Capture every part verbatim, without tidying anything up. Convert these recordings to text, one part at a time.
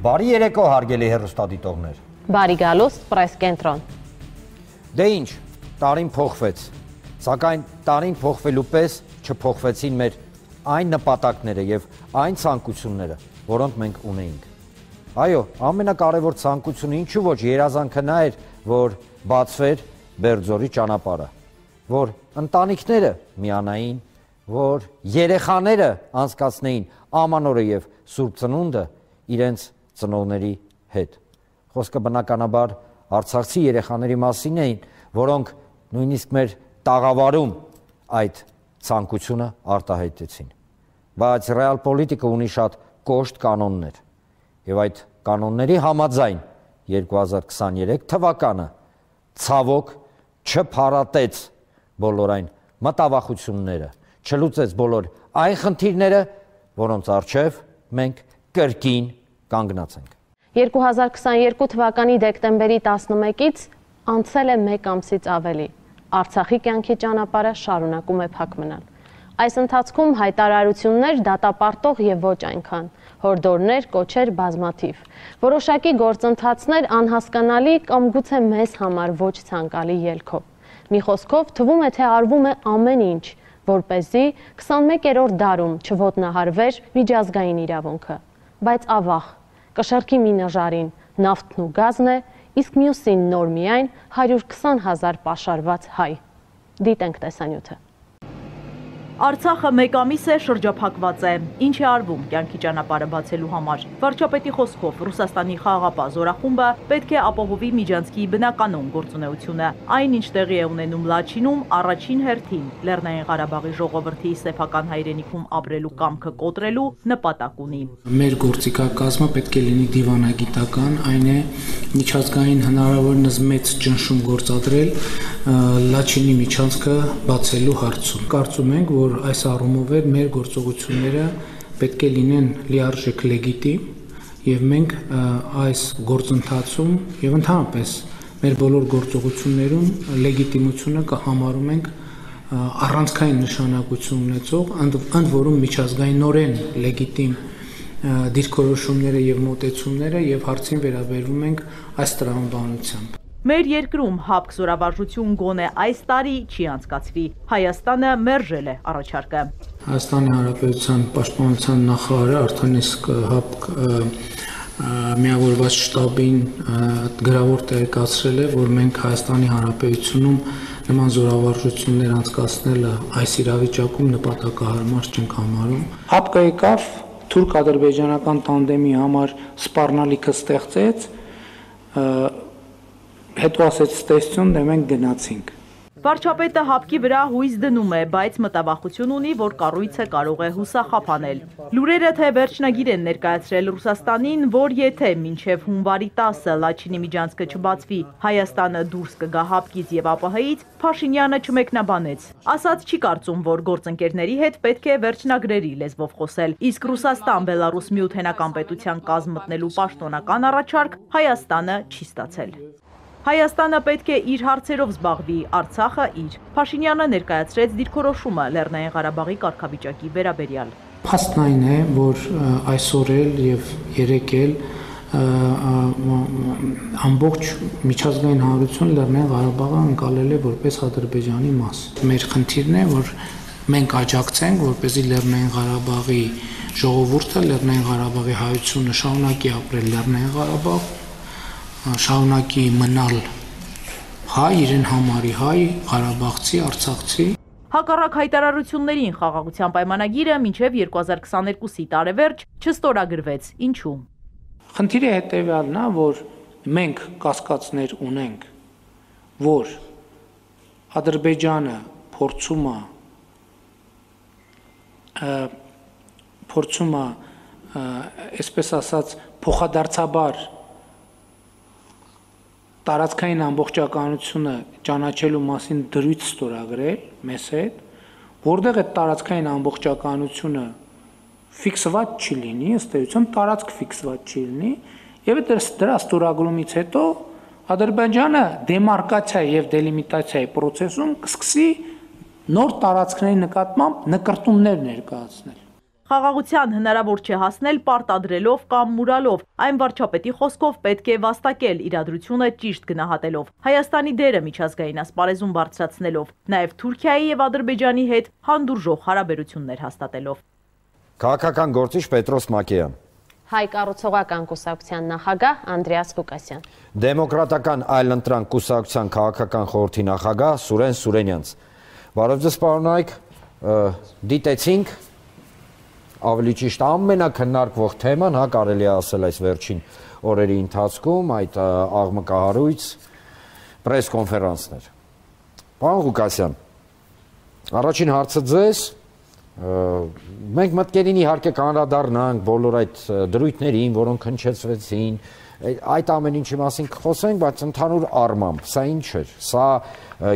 Բարի երեկո հարգելի հեռուստադիտողներ։ Բարի գալուստ պրես կենտրոն։ Դե ինչ, տարին փոխվեց, սակայն տարին փոխվելու պես չփոխվեցին մեր այն նպատակները եւ այն ցանկությունները, որոնք մենք ունեինք։ Այո, ամենակարևոր ցանկությունը ինչու ոչ երազանքը նա էր, որ բացվեր Բերձորի ճանապարհը, որ ընտանիքները միանային, որ երեխաները անցկացնեին ամանորը եւ Սուրբ Ծնունդը իրենց ծնողների հետ։ Խոսքը բնականաբար արցախցի երեխաների մասին էին, որոնք նույնիսկ մեր տաղավարում այդ ցանկությունը արտահայտեցին։ Բայց ռեալ պոլիտիկը ունի շատ կոշտ կանոններ, եւ այդ կանոնների համաձայն երկու հազար քսաներեք թվականը ցավոք չփարատեց բոլոր այն մտավախությունները, չլուծեց բոլոր այն խնդիրները, որոնց առջև մենք կրկին կանգնած ենք։ երկու հազար քսաներկու թվականի դեկտեմբերի տասնմեկից անցել է մեկ ամսից ավելի։ Արցախի կյանքի ճանապարհը շարունակում է փակ մնալ։ Այս ընթացքում հայտարարություններ դատապարտող եւ ոչ այնքան, հորդորներ, կոչեր բազմաթիվ, որոշակի գործընթացներ անհասկանալի կամ գուցե մեզ համար ոչ ցանկալի ելքով։ Մի խոսքով թվում է, թե արվում է ամեն ինչ, որպեսզի քսանմեկերորդ դարում չոտնահարվեր միջազգային իրավունքը, բայց ավաղ, կշռքի մի նժարին նավթն ու գազն է, իսկ մյուսին նոր միայն հարյուր քսան հազար պաշարված հայ։ Դիտենք տեսանյութը։ Արցախը մեկ ամիս է շրջափակված է, ինչ է արվում կյանքի ճանապարհը բացելու համար։ Վարչապետի խոսքով Ռուսաստանի խաղաղապահ զորախումբը պետք է ապահովի Միջանցքի բնականոն գործունեությունը, այն ինչ տեղի է ունենում Լաչինում, առաջին հերթին Լեռնային Ղարաբաղի ժողովրդի սեփական հայրենիքում ապրելու կամքը կոտրելու նպատակ ունի։ Մեր գործիքակազմը պետք է լինի դիվանագիտական, այն է միջազգային հնարավորինս մեծ ճնշում գործադրել Լաչինի միջանցքը բացելու հարցում։ Կարծում ենք, որ այս առումով է մեր գործողությունները պետք է լինեն լիարժեք լեգիտիմ եւ մենք այս գործընթացում եւ ընդհանրապես մեր բոլոր գործողություններում լեգիտիմությունը կհամարում ենք առանցքային նշանակություն ունեցող, ընդ որում միջազգայինորեն լեգիտիմ դիրքորոշումները եւ մոտեցումները եւ հարցին վերաբերվում ենք այս տրամաբանությամբ։ Մեր երկրում հապկ զորավարժություն գոնե այս տարի չի անցկացվի։ Հայաստանը մերժել է առաջարկը։ Հայաստանի Հանրապետության Պաշտպանության նախարարը արդեն իսկ հապկ միավորված շտաբին գրավոր տեղեկացրել է, որ մենք Հայաստանի Հանրապետությունում նման զորավարժություններ անցկացնելը այս իրավիճակում նպատակահարմար չենք համարում։ Հապկը եկավ թուրք-ադրբեջանական տանդեմի համար սպառնալիքը ստեղծեց, հետո ասեց տեսություն, դե մենք գնացինք։ Վարչապետը հապկի վրա հույս դնում է, բայց մտավախություն ունի, որ կառույցը կարող է հուսախաբանել։ Լուրերը թե վերջնագիր են ներկայացրել Ռուսաստանին, որ եթե մինչև հունվարի տասը Լաչինի միջանցքը չբացվի, Հայաստանը դուրս կգա հապկից եւ ԱՊՀ-ից, Փաշինյանը չմեկնաբանեց։ Ասած չի կարծում, որ գործընկերների հետ պետք է վերջնագրերի լեզվով խոսել, իսկ Ռուսաստան-Բելարուս միութենական պետության կազմ մտնելու պաշտոնական առաջարկ Հայաստանը չի ստացել։ Հայաստանը պետք է իր հարցերով զբաղվի, Արցախը իր։ Փաշինյանը ներկայացրեց դիրքորոշումը Լեռնային Ղարաբաղի կարգավիճակի վերաբերյալ։ Փաստն այն է, որ այսօր էլ եւ երեկ էլ ամբողջ միջազգային հանրությունը Լեռնային Ղարաբաղը ընկալել է որպես Ադրբեջանի մաս։ Մեր խնդիրն է, որ մենք աջակցենք, որպեսզի Լեռնային Ղարաբաղի ժողովուրդը, Լեռնային Ղարաբաղի հայությունը շարունակի ապրել Լեռնային Ղարաբաղ, շարունակի մնալ հայ, իրեն համարի հայ, ղարաբաղցի, արցախցի։ Հակառակ հայտարարություններին խաղաղության պայմանագիրը մինչև երկու հազար քսաներկուսի տարեվերջ չստորագրվեց։ Ինչու՞։ Խնդիրը հետևյալն է, որ մենք կասկածներ ունենք, որ Ադրբեջանը փորձում է փորձում է, այսպես ասած, փոխադարձաբար տարածքային ամբողջականությունը ճանաչելու մասին դրույթ ստորագրել մեզ հետ, որտեղ այդ տարածքային ամբողջականությունը ֆիքսված չի լինի, ըստ էության տարածք ֆիքսված չի լինի, եւ դրա ստորագրումից հետո Ադրբեջանը դեմարկացիա եւ դելիմիտացիայի process-ում կսկսի նոր տարածքների նկատմամբ նկրտումներ ներկայացնել։ Խաղաղության հնարավոր չէ հասնել պարտադրելով կամ մուրալով, այն վարչապետի խոսքով պետք է վաստակել իրադրությունը ճիշտ գնահատելով, Հայաստանի դերը միջազգային ասպարեզում բարձրացնելով, նաև Թուրքիայի և Ադրբեջանի հետ հանդուրժող հարաբերություններ հաստատելով։ Քաղաքական գործիչ Պետրոս Մակեյան, Հայ կառուցողական կուսակցության նախագահ Անդրեաս Ղուկասյան, Դեմոկրատական այլընտրանք կուսակցության քաղաքական խորհրդի նախագահ Սուրեն Սուրենյանց։ Բարև ձեզ պարոնայք, դիտեցինք ավելի ճիշտ ամենակննարկվող թեման, հա, կարելի է ասել այս վերջին օրերի ընթացքում, այդ աղմկահարույց պրես-կոնֆերանսներ։ Պարոն Ղուկասյան, առաջին հարցը ձեզ, մենք մտքերին իհարկե կանրադառնանք բոլոր այդ դրույթներին, որոնք հնչեցվեցին, այդ ամեն ինչի մասին կխոսենք, բայց ընդհանուր առմամբ, սա ինչ էր, սա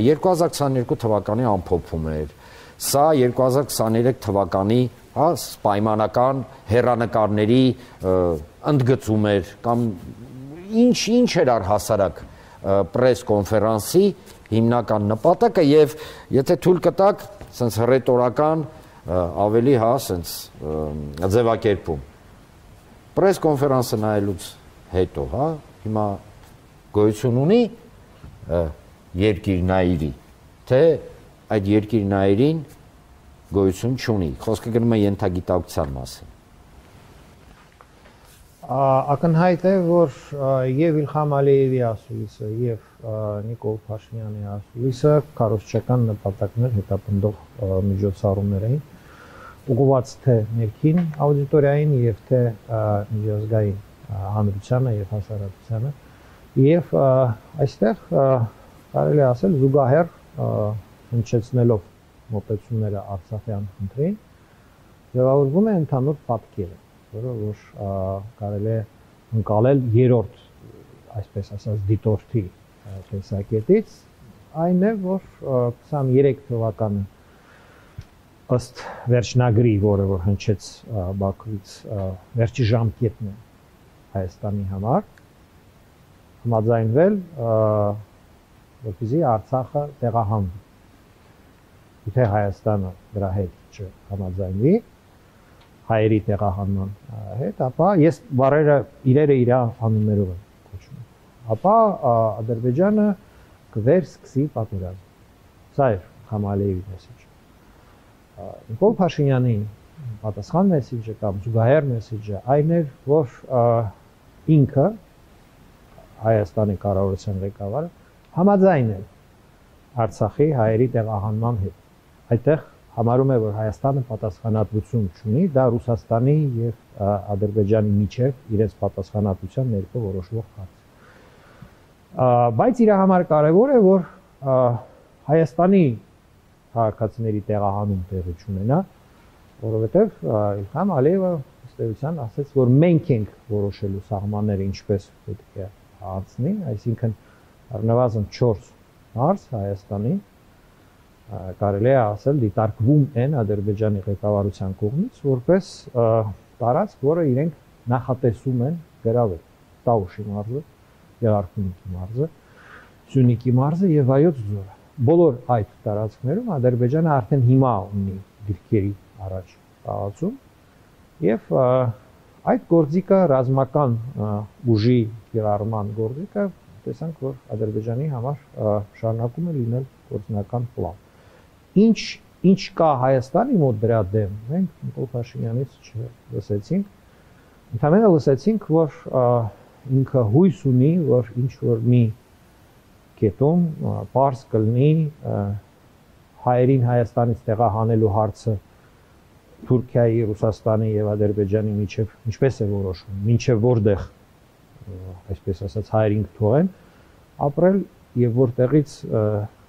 երկու հազար քսաներկու թվականի ամփոփում էր, սա երկու հազար քսաներեք թվականի պայմանական հեռանկարների ընդգծում էր, կամ ինչ էր առհասարակ պրես-կոնֆերանսի հիմնական նպատակը, և եթե թույլ կտաք, սենց հռետորական ավելի հա, սենց ձևակերպում։ Պրես-կոնֆերանսը նայելուց հետո, հա, հիմա գոյություն ունի երկիրնայիրի, թե այդ երկիրնայիրին գոյություն չունի, խոսքը գնում է ենթագիտակցության մասին։ Ակնհայտ է, որ և Իլհամ Ալիևի ասուլիսը, և Նիկոլ Փաշինյանի ասուլիսը քարոզչական նպատակներ հետապնդող միջոցառումներ էին, ուղղված թե ներքին աուդիտորիային և թե միջազգային հանրությանը և հասարակությանը, և այստեղ կարելի է ասել զուգահեռ հնչեցնելով մոտեցումները Արցախյան խնդրին, ձևավորվում է ընդհանուր պատկերը, որը որ կարելի է ընկալել երրորդ, այսպես ասած, դիտորդի տեսակետից, այն է, որ քսաներեք թվականը ըստ վերջնագրի, որը որ հնչեց Բաքվից, վերջի ժամկետն է Հայաստանի համար, համաձայնվել, որպեսզի Արցախը տեղահանվի։ Եթե Հայաստանը դրա հետ չհամաձայնվի, հայերի տեղահանման հետ, ապա ես բառերը իրերը իր անուններով եմ կոչում, ապա Ադրբեջանը կվերսկսի պատերազմ։ Սա էր Իլհամ Ալիևի մեսիջը։ Նիկոլ Փաշինյանի պատասխան մեսիջը կամ զուգահեռ մեսիջը այն էր, որ ինքը Հայաստանի կառավարության ղեկավարը համաձայն է Արցախի հայերի տեղահանման հետ։ Այդտեղ համարում է, որ Հայաստանը պատասխանատվություն չունի, դա Ռուսաստանի և Ադրբեջանի միջև իրենց պատասխանատվության ներքո որոշվող հարց։ Բայց իր համար կարևոր է, որ Հայաստանի քաղաքացիների տեղահանում տեղի չունենա, որովհետև Իլհամ Ալիևը ըստ էության ասաց, որ մենք ենք որոշելու սահմանները ինչպես պետք է անցնի, այսինքն առնվազն չորս մարզ Հայաստանի կարելի է ասել դիտարկվում են Ադրբեջանի ղեկավարության կողմից որպես տարածք, որը իրենք նախատեսում են գրավել Տաուշի մարզը, Գեղարքունիքի մարզը, Սյունիքի մարզը և Վայոց ձորը։ Բոլոր այդ տարածքներում Ադրբեջանը արդեն հիմա ունի դիրքերի առաջ տարածում և այդ գործիքը ռազմական ուժի կիրառման գործիքը տեսանք, որ Ադրբեջանի համար շարունակում է լինել գործնական պլան։ Ինչ ինչ կա Հայաստանի մոտ դրա դեմ, մենք Նիկոլ Փաշինյանից չլսեցինք, ընդհանրապես լսեցինք, որ ինքը հույս ունի, որ ինչ որ մի կետում պարզ կլինի հայերին Հայաստանից տեղահանելու հարցը Թուրքիայի, Ռուսաստանի և Ադրբեջանի միջև ինչպես է որոշվում, մինչև որտեղ, այսպես ասած, հայերին կթողեն ապրել և որտեղից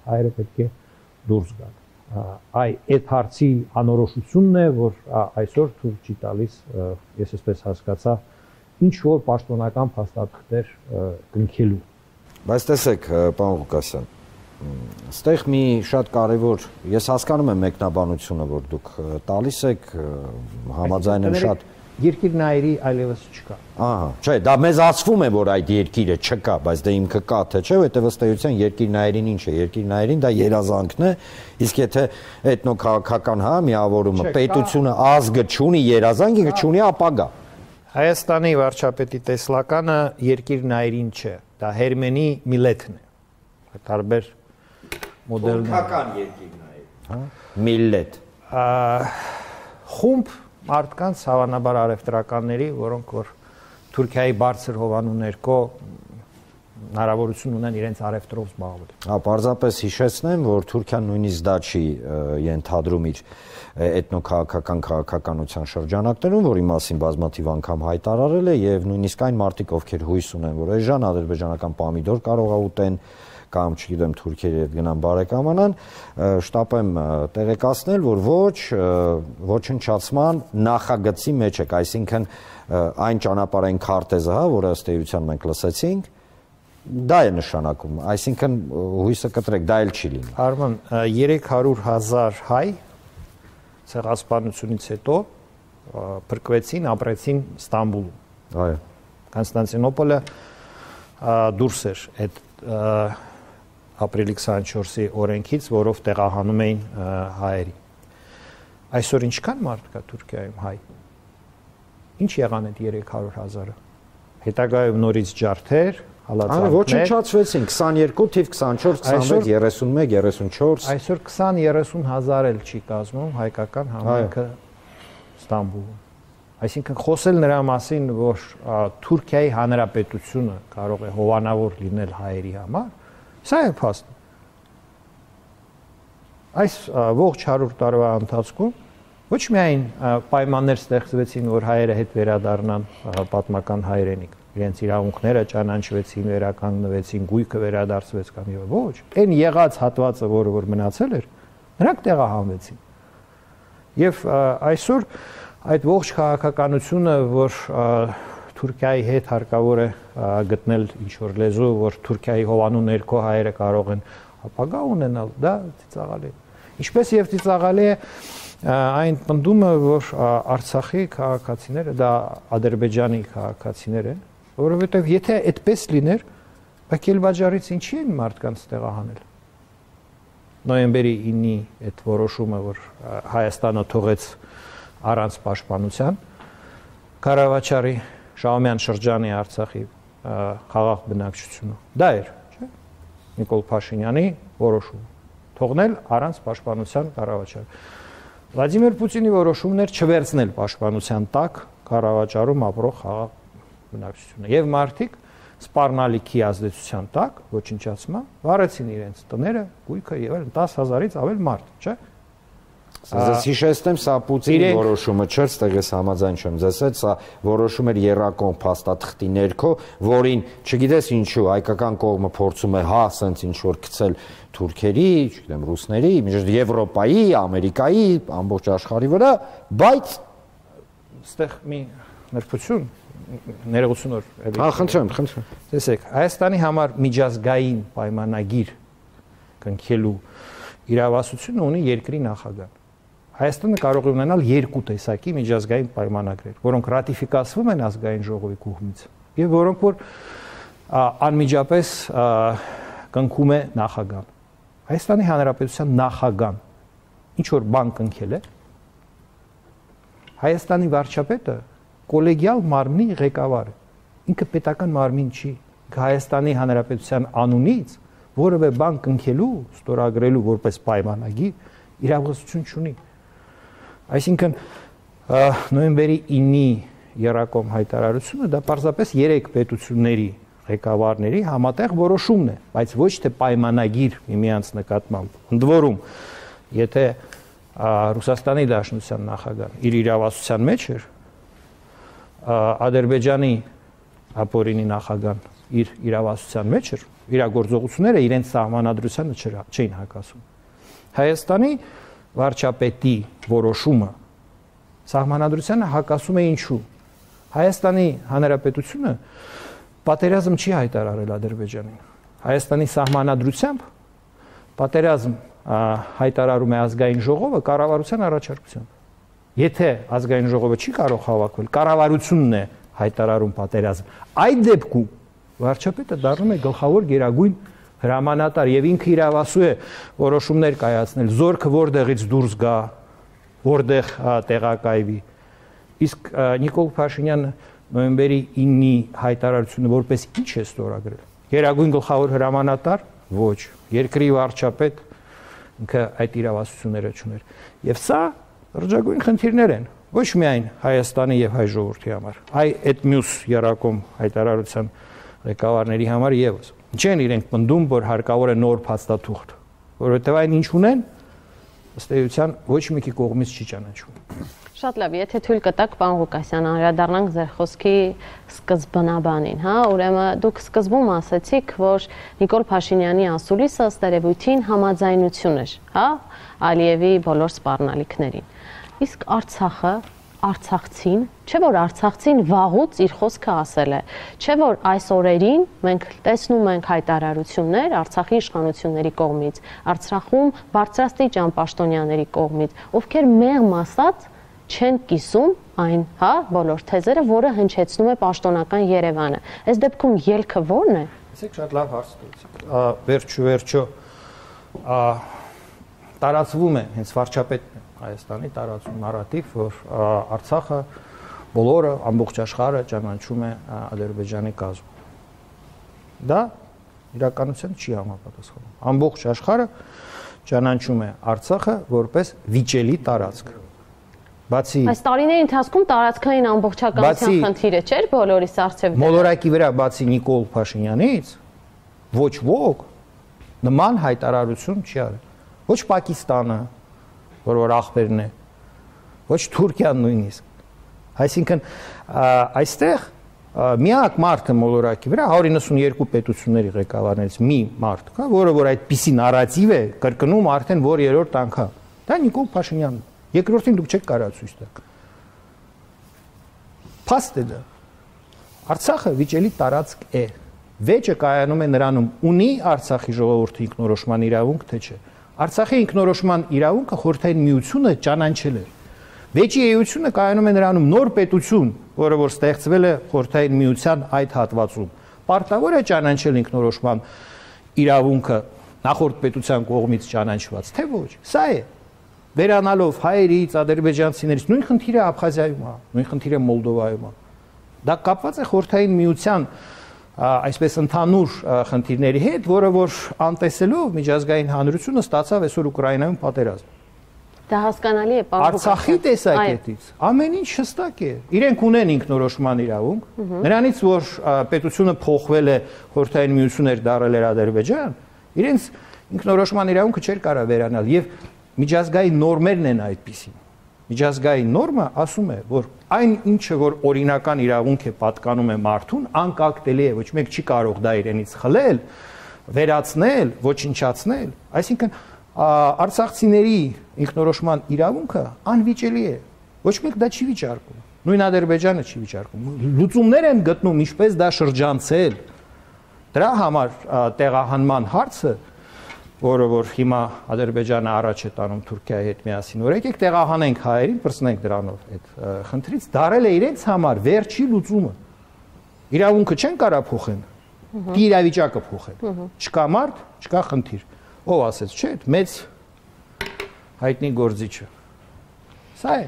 հայերը պետք է դուրս գան։ Այ այդ հարցի անորոշությունն է, որ այսօր թույլ չի տալիս, ես այսպես հասկացա, ինչ որ պաշտոնական փաստաթղթեր կնքելու։ Բայց տեսեք, պարոն Ղուկասյան, այստեղ մի շատ կարևոր, ես հասկանում եմ մեկնաբանությունը, որ դուք տալիս եք, համաձայն եմ շատ երկիրնայերի այլևս չկա։ Ահա, չէ, դա մեզ ասվում է, որ այդ երկիրը չկա, բայց դե ինքը կա, թե չէ, որտեղ ըստ էության երկիրնայերին ինչ է, երկիրնայերին դա երազանքն է, իսկ եթե էթնոքաղաքական հա միավորումը, պետությունը, ազգը չունի երազանք, ինքը չունի ապագա։ Հայաստանի վարչապետի տեսլականը երկիրնայերին չէ, դա Հերմենի Միլեթն է։ Տարբեր մոդելներ։ Թուրքական երկիրնայեր, հա, Միլեթ։ Խումբ մարդկանց հավանաբար արևտրականների, որոնք որ Թուրքիայի բարձր հովանու ներքո հնարավորություն ունեն իրենց արևտրով զբաղվել։ Հա, պարզապես հիշեցնեմ, որ Թուրքիան նույնիսկ դա չի ենթադրում իր էթնոքաղաքական քաղաքականության շրջանակներում, որի մասին բազմաթիվ անգամ հայտարարել է, եւ նույնիսկ այն մարդիկ, ովքեր հույս ունեն, որ այժմ ադրբեջանական պամիդոր կարող է ուտեն կամ չգիտեմ թուրքերի հետ գնան բարեկամանան, շտապեմ տեղեկացնել, որ ոչ ոչնչացման նախագծի մեջ եք, այսինքն այն ճանապարհային քարտեզը, հա, որը ըստ էության մենք լսեցինք, դա է նշանակում, այսինքն հույսը կտրեք, դա էլ չի լինի։ Արման, երեք հարյուր հազար հայ ցեղասպանությունից հետո փրկվեցին, ապրեցին Ստամբուլում։ Այո։ Կոնստանտինոպոլը դուրս էր այդ ապրիլի քսանչորսի օրենքից, որով տեղահանում էին հայերի։ Այսօր ինչքան մարդ կա Թուրքիայում հայ։ Ինչ եղան այդ երեք հարյուր հազարը։ Հետագայում նորից ջարդեր, հալածանքներ։ Ոչնչացվեցին քսաներկու թիվ քսանչորս, քսանմեկ, երեսունմեկ, երեսունչորս։ Այսօր քսան երեսուն հազար էլ չի կազմում հայկական համայնքը Ստամբուլում։ Այսինքն խոսել նրա մասին, որ Թուրքիայի հանրապետությունը կարող է հովանավոր լինել հայերի համար, սա է փաստը։ Այս ողջ հարյուր տարվա ընթացքում ոչ միայն պայմաններ ստեղծվեցին, որ հայերը հետ վերադառնան պատմական հայրենիք, իրենց իրավունքները ճանաչվեցին, վերականգնվեցին, գույքը վերադարձվեց կամ եւ ոչ, այն եղած հատվածը, որը որ մնացել էր, նրանք տեղահանվեցին։ Եվ այսօր այդ ողջ քաղաքականությունը, որ Թուրքիայի հետ հարկավոր է գտնել ինչ-որ լեզու, որ Թուրքիայի հովանու ներքո հայերը կարող են ապագա ունենալ, դա ծիծաղալի է։ Ինչպես եւ ծիծաղալի է այն պնդումը, որ Արցախի քաղաքացիները դա Ադրբեջանի քաղաքացիներ են, որովհետեւ եթե այդպես լիներ, Բաքելբաջարից ինչի են մարդկանց տեղահանել։ Նոյեմբերի ինի այդ որոշումը, որ Հայաստանը թողեց առանց պաշտպանության, Ղարաբաղի Շահումյան շրջանի Արցախի խաղաղ բնակչությունը։ Դա էր, չէ՞։ Նիկոլ Փաշինյանի որոշումը թողնել առանց պաշտպանության Ղարաբաղը։ Վլադիմիր Պուտինի որոշումն էր չվերցնել պաշտպանության տակ Ղարաբաղում ապրող խաղաղ բնակչությունը։ Եվ մարդիկ սպառնալիքի ազդեցության տակ ոչնչացման վարեցին իրենց տները, գույքը եւ այլն դաս հազարից ավել մարդ, չէ՞։ Ձեզ հիշեցնեմ, սա Պուտինի որոշումը չէր, ստեղ ես համաձայն չեմ ձեզ հետ, սա որոշում էր եռակողմ փաստաթղթի ներքո, որին, չգիտես ինչու, հայկական կողմը փորձում է հա, սենց ինչ որ գցել թուրքերի, չգիտեմ, ռուսների, միջև Եվրոպայի, Ամերիկայի, ամբողջ աշխարհի վրա, բայց ստեղ մի ներբություն, ներողություն որ Հա, խնդրեմ, խնդրեմ։ Տեսեք, Հայաստանի համար միջազգային պայմանագիր կնքելու իրավասությունը ունի երկրի նախագահ։ Հայաստանը կարող է ունենալ երկու տեսակի միջազգային պայմանագրեր, որոնք ռատիֆիկացվում են ազգային ժողովի կողմից եւ որոնք որ անմիջապես կնքում է նախագահան։ Հայաստանի Հանրապետության նախագահան ինչ որ բան կնքել է, Հայաստանի վարչապետը կոլեգիալ մարմնի ղեկավար է։ Ինքը պետական մարմին չի։ Հայաստանի Հանրապետության անունից որևէ բան կնքելու, ստորագրելու որպես պայմանագիր իրավասություն չունի։ Այսինքն նոյեմբերի ինի եռակողմ հայտարարությունը դա պարզապես երեք պետությունների ղեկավարների համատեղ որոշումն է, բայց ոչ թե պայմանագիր միմյանց նկատմամբ։ Ընդ որում, եթե Ռուսաստանի Դաշնության նախագահն իր իրավասության մեջ էր, Ադրբեջանի ապօրինի նախագահն իր իրավասության մեջ էր, իրագործողությունները իրենց սահմանադրությանը չէին հակասում։ Հայաստանի վարչապետի որոշումը սահմանադրությանը հակասում է ինչու։ Հայաստանի Հանրապետությունը պատերազմ չի հայտարարել Ադրբեջանին։ Հայաստանի սահմանադրությամբ պատերազմ հայտարարում է ազգային ժողովը կառավարության առաջարկությամբ։ Եթե ազգային ժողովը չի կարող հավաքվել, կառավարությունն է հայտարարում պատերազմ, այդ դեպքում վարչապետը դառնում է գլխավոր գերագույն հրամանատար եւ ինքը իրավասու է որոշումներ կայացնել, զորքը որտեղից դուրս գա, որտեղ տեղակայվի։ Իսկ Նիկոլ Փաշինյանը նոյեմբերի ինի հայտարարությունը որպես ինչ է ստորագրել։ Գերագույն գլխավոր հրամանատար ոչ, երկրի վարչապետ ինքը այդ իրավասությունները չուներ։ Եվ սա ռճագույն խնդիրներ են ոչ միայն Հայաստանի եւ հայ ժողովրդի համար, այլ այդ մյուս երակոմ հայտարարության ղեկավարների համար եւս։ Չեն իրենք պնդում, որ հարկավոր է նոր փաստաթուղթ, որովհետեւ այն ինչ ունեն, ըստ էության ոչ մեկի կողմից չի ճանաչվում։ Շատ լավ, եթե թույլ կտաք, պարոն Ղուկասյան, անդրադառնանք ձեր խոսքի սկզբնաբանին, հա, ուրեմն դուք սկզբում ասացիք, որ Նիկոլ Փաշինյանի ասուլիսը ըստ երևույթին համաձայնություն էր, հա, Ալիևի բոլոր սպառնալիքներին։ Իսկ Արցախը, արցախցին, չէ՞ որ արցախցին վաղուց իր խոսքը ասել է, չէ՞ որ այս օրերին մենք տեսնում ենք հայտարարություններ Արցախի իշխանությունների կողմից, Արցախում բարձրաստիճան պաշտոնյաների կողմից, ովքեր մեղմ ասած չեն կիսում այն, հա, բոլոր թեզերը, որը հնչեցնում է պաշտոնական Երևանը։ Այս դեպքում ելքը ո՞րն է։ Ասեք շատ լավ հարց տվեցիք։ Վերջո վերջո տարածվում է հենց վարչապետն է Հայաստանի տարածում նարատիվ, որ Արցախը բոլորը ամբողջ աշխարհը ճանաչում է Ադրբեջանի կազմում։ Դա իրականության չի համապատասխանում։ Ամբողջ աշխարհը ճանաչում է Արցախը որպես վիճելի տարածք։ Բացի այս տարիների ընթացքում տարածքային ամբողջականության խնդիրը չէր բոլորիս արծեւ։ Մոլորակի վրա բացի Նիկոլ Փաշինյանից ոչ ոք նման հայտարարություն չի արել։ Ոչ Պակիստանը, որ որ ախպերն է, ոչ Թուրքիան նույնիսկ։ Այսինքն այստեղ միակ մարդը մոլորակի վրա հարյուր նվաթ երկու պետությունների ղեկավարներից մի մարդ կա, որը որ այդպիսի նարատիվ է կրկնում արդեն որ երրորդ անգամ։ Դա Նիկոլ Փաշինյանն է։ Երկրորդին դուք չեք կարող ցույց տալ։ Փաստ է դա։ Արցախը վիճելի տարածք է։ Վեճը կայանում է նրանում, ունի Արցախի ժողովուրդը ինքնորոշման իրավունք, թե չէ։ Արցախի ինքնորոշման իրավունքը խորհրդային միությունը ճանաչել է։ Վեճի էությունը կայանում է նրանում նոր պետություն, որը որ ստեղծվել է խորհրդային միության այդ հատվածում։ Պարտավոր է ճանաչել ինքնորոշման իրավունքը նախորդ պետության կողմից ճանաչված, թե ոչ։ Սա է։ Վերանալով հայերից, ադրբեջանցիներից, նույն խնդիրը Աբխազիայում է, նույն խնդիրը Մոլդովայում է։ Դա կապված է խորհրդային միության այսպես ընդհանուր խնդիրների հետ, որը որ անտեսելով միջազգային հանրությունը ստացավ այսօր Ուկրաինայում պատերազմ։ Դա հասկանալի է, պարոն Ղուկասյան։ Արցախի տեսակետից ամեն ինչ հստակ է։ Իրենք ունեն ինքնորոշման իրավունք, նրանից որ պետությունը փոխվել է, խորհրդային միություն էր դարել էր Ադրբեջան, իրենց ինքնորոշման իրավունքը չէր կարող վերանալ եւ միջազգային նորմերն են այդպիսին։ Միջազգային նորմը ասում է, որ այն ինչը որ օրինական իրավունք է պատկանում է մարդուն, անկախտելի է, ոչ մեկ չի կարող դա իրենից խլել, վերացնել, ոչնչացնել, այսինքն արցախցիների ինքնորոշման իրավունքը անվիճելի է։ Ոչ մեկ դա չի վիճարկում։ Նույն Ադրբեջանը չի վիճարկում։ Լուծումներ են գտնում, ինչպես դա շրջանցել։ Դրա համար տեղահանման հարցը, որը որ հիմա Ադրբեջանը առաջ է տանում Թուրքիայի հետ միասին, որ եկեք տեղահանենք հայերին, պրծնենք դրանով այդ խնդրից, դարել է իրենց համար վերջի լուծումը։ Իրավունքը չեն կարա փոխեն, իրավիճակը փոխեն։ Չկա մարդ, չկա խնդիր։ Ով ասեց, չէ, մեծ հայտնի գործիչը։ Սա է։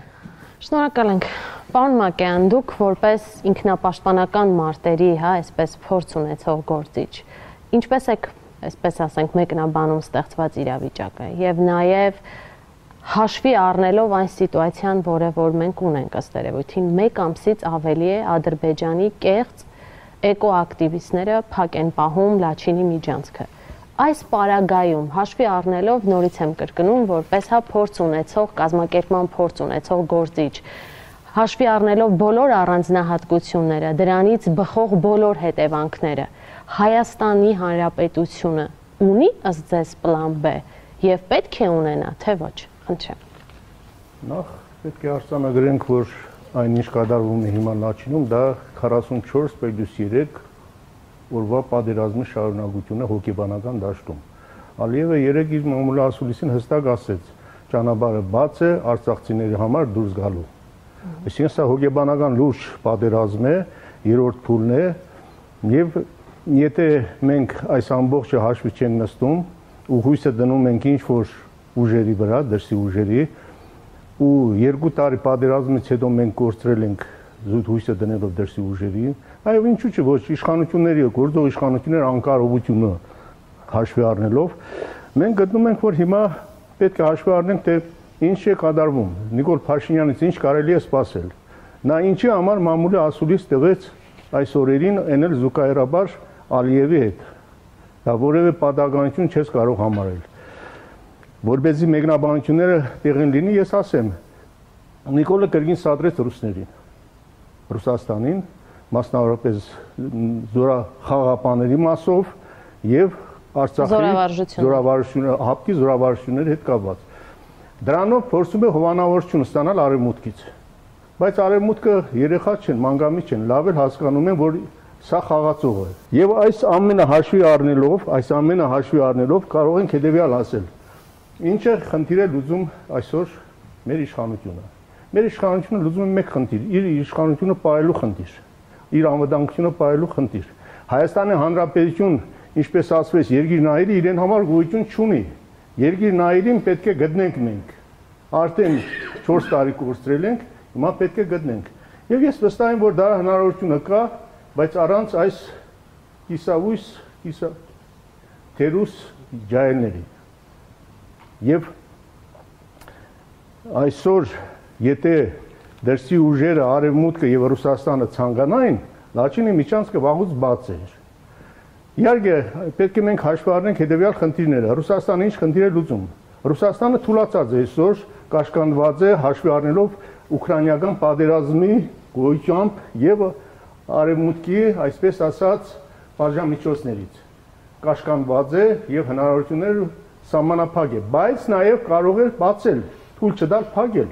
Շնորհակալ ենք։ Պարոն Մակեյան, դուք որպես ինքնապաշտպանական մարտերի, հա, այսպես փորձ ունեցող գործիչ, ինչպես եք, այսպես ասենք, մեկնաբանում ստեղծված իրավիճակը եւ նաեւ հաշվի առնելով այն սիտուացիան, որը որ մենք ունենք ըստ երևույթին, մեկ ամսից ավելի է Ադրբեջանի կեղծ էկոակտիվիստները փակ են պահում Լաչինի միջանցքը։ Այս պարագայում հաշվի առնելով նորից եմ կրկնում, որպես հա փորձ ունեցող, կազմակերպման փորձ ունեցող գործիչ, հաշվի առնելով բոլոր առանձնահատկությունները, դրանից բխող բոլոր հետևանքները, Հայաստանի Հանրապետությունը ունի ըստ ձեզ պլան B եւ պետք է ունենա, թե ոչ, խնդրեմ։ Նախ պետք է արձանագրենք, որ այն ինչ կատարվում է հիմա Լաչինում, դա քառասունչորս պլյուս երեք օրվա պատերազմի շարունակությունը հոգեբանական դաշտում։ Ալիևը երեք իր մամուլի ասուլիսին հստակ ասեց, ճանապարհը բաց է արցախցիների համար դուրս գալու։ Այսինքն սա հոգեբանական լուրջ պատերազմ է, երրորդ փուլն է, եւ եթե մենք այս ամբողջը հաշվի չենք նստում ու հույսը դնում ենք ինչ որ ուժերի վրա, դրսի ուժերի, ու երկու տարի պատերազմից հետո մենք կորցրել ենք զուտ հույսը դնելով դրսի ուժերի, այո, ինչու՞ չէ, ոչ իշխանությունների, գործող իշխանությունների անկարողությունը հաշվի առնելով, մենք գտնում ենք, որ հիմա պետք է հաշվի առնենք, թե ինչ է կատարվում։ Նիկոլ Փաշինյանից ինչ կարելի է սպասել։ Նա ինչի համար մամուլի ասուլիս տվեց այս օրերին էնել զուգահեռաբար Ալիևի հետ։ Դա որևէ պատահականություն չես կարող համարել։ Որբեզի մեկնաբանությունները տեղին լինի, ես ասեմ, Նիկոլը կրկին սադրեց ռուսներին, Ռուսաստանին, մասնավորապես զորախաղապաների մասով եւ Արցախի զորավարժությունները, հապկի զորավարժությունների հետ կապված։ Դրանով փորձում է հովանավորություն ստանալ արևմուտքից։ Բայց արևմուտքը երեխա չեն, մանգամից չեն, լավ էլ հասկանում են, որ սա խաղացող է։ Եվ այս ամենը հաշվի առնելով, այս ամենը հաշվի առնելով կարող ենք հետեւյալ ասել. ինչ է խնդիրը լուծում այսօր մեր իշխանությունը։ Մեր իշխանությունը լուծում է մեկ խնդիր, իր իշխանությունը պահելու խնդիր, իր անվտանգությունը պահելու խնդիր։ Հայաստանի Հանրապետություն, ինչպես ասվեց, երկիր նայիրը իրեն համար գոյություն չունի։ Երկիր նայիրին պետք է գտնենք մենք։ Արդեն չորս տարի կորցրել ենք, հիմա պետք է գտնենք։ Եվ ես վստահ եմ, որ դա հնարավորությունը կա, բայց առանց այս կիսավույս, կիսա թերուս ջահելների։ Եվ այսօր, եթե դրսի ուժերը արևմուտքը եւ Ռուսաստանը ցանկանային, Լաչինի միջանցքը վաղուց բաց էր։ Իհարկե, պետք է մենք հաշվի առնենք հետեւյալ խնդիրները։ Ռուսաստանը ինչ խնդիր է լուծում։ Ռուսաստանը թուլացած է այսօր, կաշկանդված է հաշվի առնելով ուկրաինական պատերազմի գոյությամբ եւ արևմուտքի, այսպես ասած, բաժամիջոցներից։ Կաշկանդված է եւ հնարավորությունները սահմանափակ է, բայց նաեւ կարող է բացել, թույլ չտալ փակել։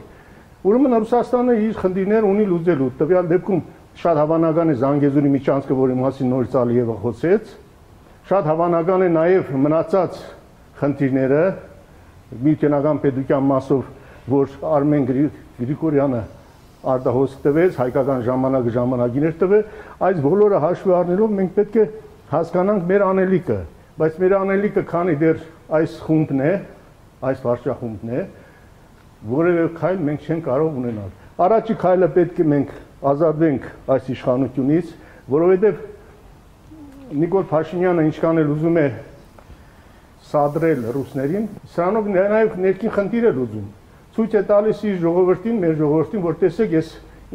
Ուրեմն Ռուսաստանը իր խնդիրներ ունի լուծելու։ Տվյալ դեպքում շատ հավանական է Զանգեզուրի միջանցքը, որի մասին նորից Ալիևը խոսեց, շատ հավանական է նաեւ մնացած խնդիրները միութենական պետության մասով, որ Արմեն Գրիգորյանը արտահոսք տվեց, հայկական ժամանակը ժամանակիներ տվե, այս բոլորը հաշվի առնելով մենք պետք է հասկանանք մեր անելիքը, բայց մեր անելիքը քանի դեռ այս խումբն է, այս վարչախումբն է, որևէ քայլ մենք չենք կարող ունենալ։ Առաջի քայլը պետք է մենք ազատվենք այս իշխանությունից, որովհետև Նիկոլ Փաշինյանը ինչքան էլ ուզում է սադրել ռուսներին, սրանով նաև ներքին խնդիր է լուծում։ Ցույց է տալիս իր ժողովրդին, մեր ժողովրդին, որ տեսեք, ես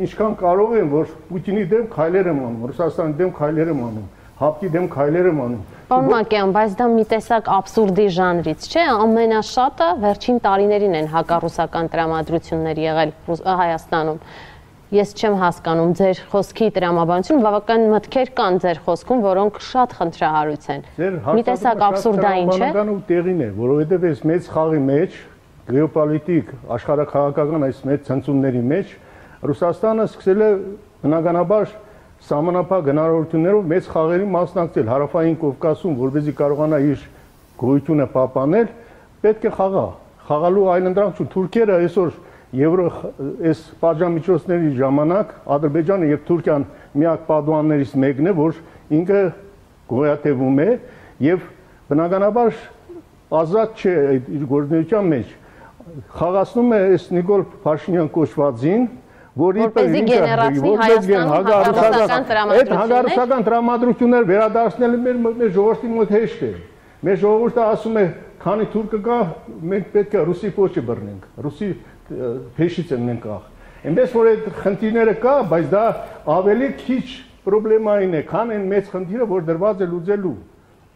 ինչքան կարող եմ, որ Պուտինի դեմ քայլեր եմ անում, Ռուսաստանի դեմ քայլեր եմ անում, հապկի դեմ քայլեր եմ անում։ Պարոն Մակյան, բայց դա մի տեսակ աբսուրդի ժանրից չէ, ամենաշատը վերջին տարիներին են հակառուսական տրամադրություններ եղել Հայաստանում։ Ես չեմ հասկանում ձեր խոսքի տրամաբանությունը, բավական մտքեր կան ձեր խոսքում, որոնք շատ խնդրահարույց են։ Մի տեսակ աբսուրդային չէ։ Բանական ու տեղին է, որովհետև այս մեծ խաղի մեջ, գեոպոլիտիկ, աշխարհաքաղաքական այս մեծ ցնցումների մեջ Ռուսաստանը սկսել է բնականաբար սահմանափակ հնարավորություններով մեծ խաղերի մասնակցել Հարավային Կովկասում, որպեսզի կարողանա իր գոյությունը պահպանել, պետք է խաղա։ Խաղալու այլընտրանք չունի։ Թուրքերը այսօր Եվրո այս պատժամիջոցների ժամանակ Ադրբեջանը եւ Թուրքիան միակ պատուհաններից մեկն է, որ ինքը գոյատևում է եւ բնականաբար ազատ չէ իր գործունեության մեջ։ Խաղացնում է այս Նիկոլ Փաշինյան կոչվածին, որի պես այդ հագարուսական տրամադրություններ վերադարձնելը մեր մեր ժողովրդի մոտ հեշտ է։ Մեր ժողովուրդը ասում է, քանի թուրքը կա, մենք պետք է ռուսի փոչը բռնենք, ռուսի փեշից ենք աղ։ Այնպես որ այդ խնդիրները կա, բայց դա ավելի քիչ պրոբլեմային է, քան այն մեծ խնդիրը, որ դրված է լուծելու։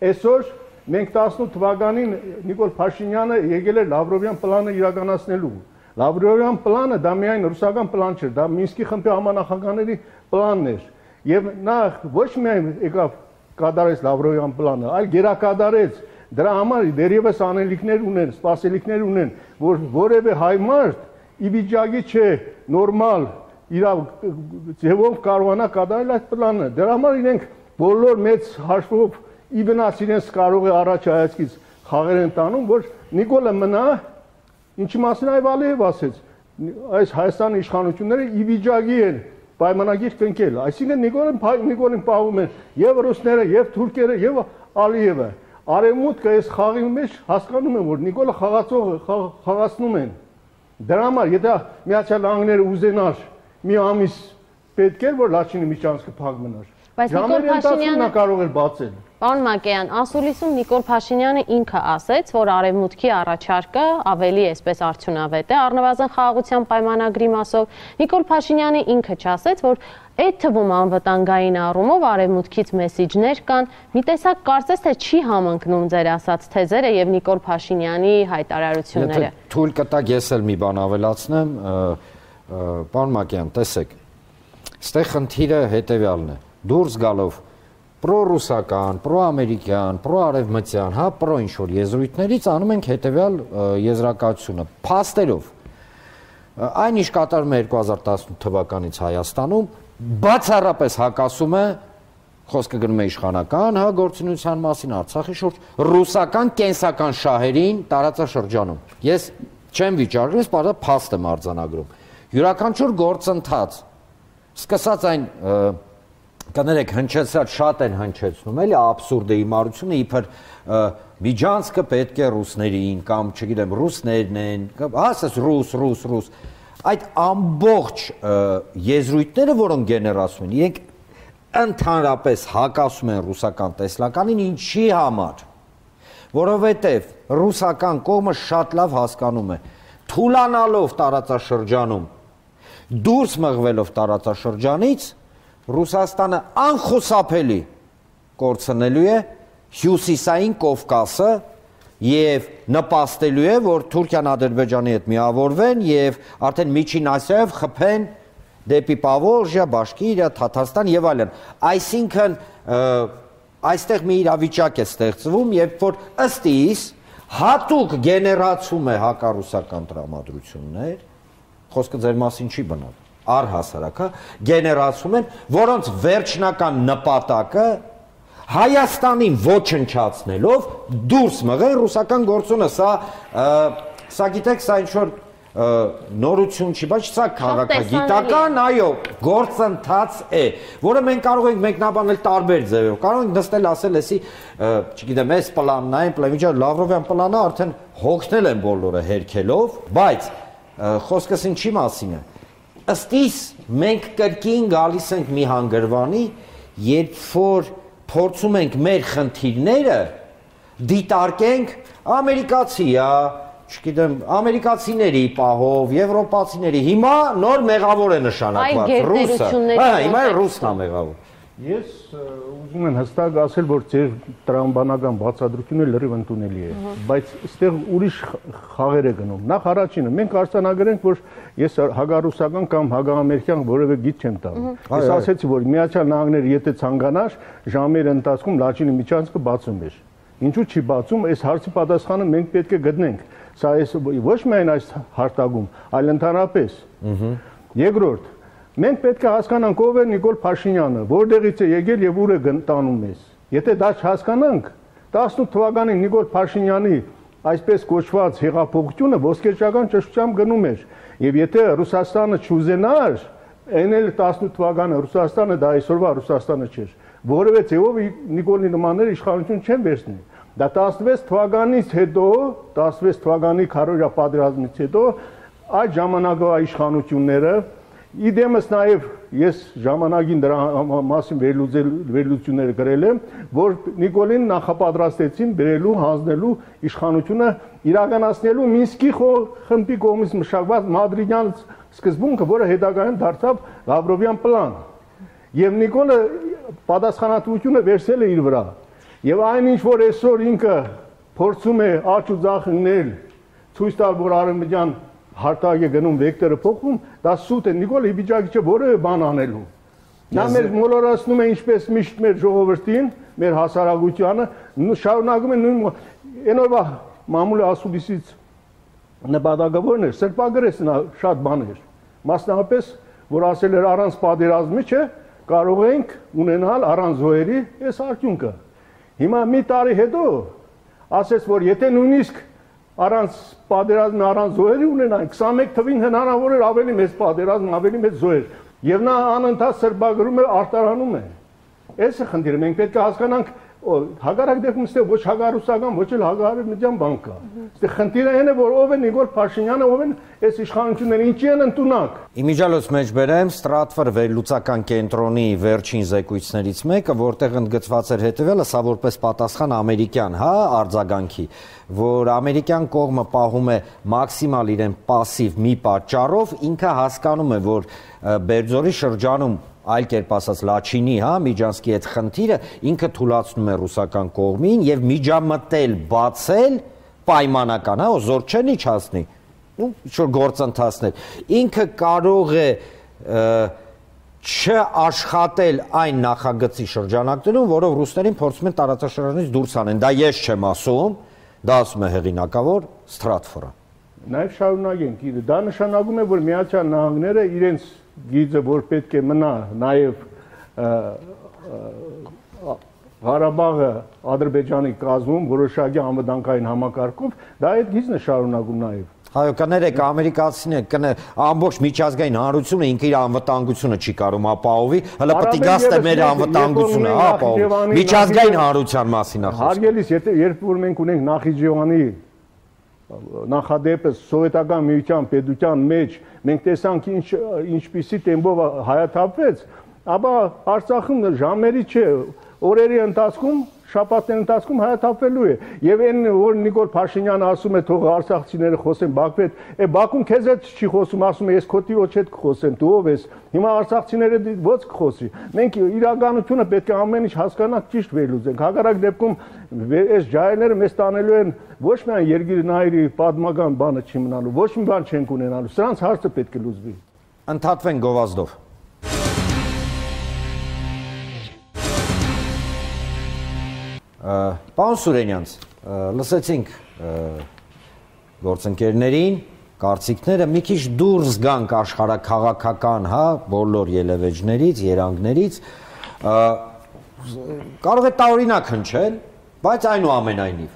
Այսօր մենք տասնութ թվականին Նիկոլ Փաշինյանը եկել է Լավրովյան պլանը իրականացնելու։ Լավրովյան պլանը դա միայն ռուսական պլան չէր, դա Մինսկի խմբի համանախագահների պլանն էր։ Եվ նա ոչ միայն եկավ կատարեց Լավրովյան պլանը, այլ գերակատարեց։ Դրա համար դերևս անելիքներ ունեն, սպասելիքներ ունեն, որ որևէ հայ մարդ ի վիճակի չէ նորմալ իր ձևով կարողանա կատարել այդ պլանը։ Դրա համար իրենք բոլոր մեծ հաշվով ի վնաս իրենց կարող է առաջ հայացքից խաղեր են տանում, որ Նիկոլը մնա Ինչի մասին այ Ալիև ասեց, այս Հայաստանի իշխանությունները ի վիճակի են պայմանագիր կնքել, այսինքն Նիկոլին Նիկոլին պահում են եւ ռուսները, եւ թուրքերը, եւ Ալիևը։ Արևմուտքը այս խաղի մեջ հասկանում են, որ Նիկոլը խաղացողը խաղացնում են։ Դրա համար, եթե Միացյալ Նահանգները ուզենար մի ամիս պետք էր, որ Լաչինի միջանցքը փակ մնար։ Բայց Նիկոլ Փաշինյանը կարող էր բացել։ Պարոն Մակեյան, ասուլիսում Նիկոլ Փաշինյանը ինքը ասեց, որ Արևմուտքի առաջարկը ավելի այսպես արդյունավետ է, առնվազն խաղաղության պայմանագրի մասով։ Նիկոլ Փաշինյանը ինքը չասեց, որ այդ թվում անվտանգային առումով Արևմուտքից մեսիջներ կան։ Մի տեսակ կարծես թե չի համընկնում ձեր ասած թեզերը եւ Նիկոլ Փաշինյանի հայտարարությունները։ Եթե թույլ կտակ, ես էլ մի բան ավելացնեմ, պարոն Մակեյան, տեսեք, այստեղ խնդիրը հետեւյալն է։ Դուրս գալով պրոռուսական, պրոամերիկյան, պրոարևմտյան, հա, պրո ինչ-որ եզրույթներից անում ենք հետևյալ եզրակացությունը։ Փաստերով այն ինչ կատարում է երկու հազար տասնութ թվականից Հայաստանում, բացառապես հակասում է, խոսքը գնում է իշխանական, հա, գործունեության մասին Արցախի շուրջ, ռուսական կենսական շահերին տարածաշրջանում։ Ես չեմ վիճարկում, ես բարձր փաստ եմ արձանագրում։ Յուրաքանչյուր գործընթաց, սկսած այն կներեք, հնչեցած շատ են հնչեցնում, էլի աբսուրդ է հիմարությունը, իբր միջանցքը պետք է ռուսներին կամ, չգիտեմ, ռուսներն են, հասես ռուս, ռուս, ռուս։ Այդ ամբողջ եզրույթները, որոնք գեներացում են, իրենք ընդհանրապես հակասում են ռուսական տեսլականին, ինչի համար, որովհետև ռուսական կողմը շատ լավ հասկանում է, թուլանալով տարածաշրջանում, դուրս մղվելով տարածաշրջանից, Ռուսաստանը անխուսափելի կորցնելու է հյուսիսային Կովկասը եւ նպաստելու է, որ Թուրքիան Ադրբեջանի հետ միավորվեն եւ արդեն Միջին Ասիայով խփեն դեպի Պավորժիա, Բաշկիրիա, Թաթարստան եւ այլն։ Այսինքն այստեղ մի իրավիճակ է ստեղծվում, երբ որ ըստ իս հատուկ գեներացում է հակառուսական տրամադրություններ, խոսքը ձեր մասին չի բնավ, առհասարակ, գեներացում են, որոնց վերջնական նպատակը Հայաստանին ոչնչացնելով դուրս մղել ռուսական գործոնը, սա, սա գիտեք, սա ինչ-որ նորություն չի, բայց սա քաղաքագիտական, այո, գործընթաց է, որը մենք կարող ենք մեկնաբանել տարբեր ձևով, կարող ենք նստել ասել, էսի, չգիտեմ, այս պլանն այն, պլանիչա Լավրովյան պլանը արդեն հոգնել են բոլորը հերքելով, բայց խոսքս ինչի մասին է, ըստ իս մենք կրկին գալիս ենք մի հանգրվանի, երբ որ փորձում ենք մեր խնդիրները դիտարկենք ամերիկացի, չգիտեմ, ամերիկացիների պահով, եվրոպացիների, հիմա նոր մեղավոր է նշանակված, ռուսը, հիմա ռուսն է մեղավոր։ Ես ուզում եմ հստակ ասել, որ ձեր տրամաբանական բացատրությունը լրիվ ընդունելի է, բայց այստեղ ուրիշ խաղեր է գնում։ Նախ առաջինը, մենք արձանագրենք, որ ես հագարուսական կամ հագամերիկյան որևէ գիծ չեմ տալու։ Ես ասեցի, որ Միացյալ Նահանգները եթե ցանկանար, ժամերի ընթացքում Լաչինի միջանցքը բացում էր։ Ինչու չի բացում, այս հարցի պատասխանը մենք պետք է գտնենք։ Սա ոչ միայն այս հարթակում, այլ ընդհանրապես։ Երկրորդ, մենք պետք է հասկանանք ով է Նիկոլ Փաշինյանը, որտեղից է եկել եւ ուր է տանում մեզ։ Եթե դա չհասկանանք, տասնութ թվականին Նիկոլ Փաշինյանի այսպես կոչված հեղափոխությունը ոսկերչական ճշտությամբ գնում էր, եւ եթե Ռուսաստանը չուզենար, այն էլ տասնութ թվականը Ռուսաստանը դա այսօրվա Ռուսաստանը չէր, որովհետեւ ձեւով Նիկոլի նմաններ իշխանություն չեն վերցնի։ Դա տասնվեց թվականից հետո, տասնվեց թվականի քարոզիա պատերազմից հետո այդ ժամանակվա իշխանությունները Իդեմս նաև ես ժամանակին դրա մասին վերլուծություններ գրել եմ, որ Նիկոլին նախապատրաստեցին բերելու, հանձնելու իշխանությունը իրականացնելու Մինսկի խմբի կողմից մշակված Մադրիդյան սկզբունքը, որը հետագայում դարձավ Լավրովյան պլան։ Եվ Նիկոլը պատասխանատվությունը վերցել է իր վրա։ Եվ այնինչ որ այսօր ինքը փորձում է աճ ու ձախ ընկնել, ցույց տալ, որ արևմտյան հարտակ է գնում, վեկտորը փոխում, դա սուտ է, Նիկոլը վիճակի չէ որևէ բան անելու։ Նա մեր մոլորացնում է ինչպես միշտ մեր ժողովրդին, մեր հասարակությանը, շարունակում է նույն այն օրվա մամուլի ասուլիսից նպատակավորն էր, սրբագրեց նա շատ բաներ։ Մասնավորապես, որ ասել էր առանց պատերազմի չէ, կարող ենք ունենալ առանց զոհերի այս արդյունքը։ Հիմա մի տարի հետո ասեց, որ եթե նույնիսկ առանց պատերազմի, առանց զոհերի ունենային, քսանմեկ թվին հնարավոր էր ավելի մեծ պատերազմ, ավելի մեծ զոհեր, եւ նա անընդհատ սրբագրում է, արտարանում է։ Այս է խնդիրը, մենք պետք է հասկանանք հագարակ դեպքում ստե ոչ հագարուսական, ոչ էլ հագարամիջան բան կա։ Ստե խնդիրը այն է, որ ով է Նիկոլ Փաշինյանը, ով են այս իշխանությունները, ինչի են ընդունակ։ Իմիջիալոց մեջ բերեմ Stratfor վերլուծական կենտրոնի վերջին զեկույցներից մեկը, որտեղ ընդգծված էր հետևյալը, սա որպես պատասխան ամերիկյան, հա, արձագանքի, որ ամերիկյան կողմը պահում է մաքսիմալ իրեն պասիվ մի պատճառով, ինքը հասկանում է, որ Բերձորի շրջանում այլ կերպ ասած Լաչինի, հա, Միջանսկի այդ խնդիրը ինքը թույլատնում է ռուսական կողմին եւ միջամտել, բացել պայմանական, հա, զոր չեն իջացնի, ու ինչ-որ գործընթացներ։ Ինքը կարող է չաշխատել այն նախագծի շրջանակներում, որով ռուսներին փորձում են տարածաշրջանից դուրս անեն։ Դա ես չեմ ասում, դա ասում է հեղինակավոր Stratfor-ը։ Նաեւ շարունակենք, դա նշանակում է, որ Միացյալ Նահանգները իրենց գիծը, որ պետք է մնա նաև Ղարաբաղը Ադրբեջանի կազմում որոշակի անվտանգային համակարգով, դա այդ գիծն է շարունակում նաև։ Այո, կներեք, ամերիկացիները կներ ամբողջ միջազգային հանրությունը ինքը իր անվտանգությունը չի կարող ապահովի, հələ պետք է գաստե մեր անվտանգությունը ապահովի։ Միջազգային հանրության մասին է խոսքը։ Հարգելիս, երբ որ մենք ունենք Նախիջևանի նախադեպը սովետական միության պետության մեջ մենք տեսանք ինչ ինչպիսի տեմպով հայաթափվեց, ապա Արցախում ժամերի չէ, օրերի ընթացքում, շաբաթների ընթացքում հայաթափվելու է։ Եվ այն որ Նիկոլ Փաշինյանը ասում է թող արցախցիները խոսեն Բաքվի հետ, է Բաքուն քեզ հետ չի խոսում, ասում է ես քո տիրոջ հետ կխոսեմ, դու ով ես։ Հիմա արցախցիները ո՞ց կխոսի։ Մենք իրականությունը պետք է ամեն ինչ հասկանանք, ճիշտ վերլուծենք։ Հակառակ դեպքում այս ջահելները մեզ տանելու են ոչ միայն երկիր նայրի պատմական բանը չի մնալու, ոչ մի բան չենք ունենալու։ Սրանց հարցը պետք է լուծվի։ Ընդհատվեն գովազդով։ Պարոն Սուրենյանց, լսեցինք գործընկերներին, կարծիքները, մի քիչ դուրս գանք աշխարհաքաղաքական, հա, բոլոր ելևէջներից, երանգներից, կարող է տարօրինակ հնչել, բայց այնուամենայնիվ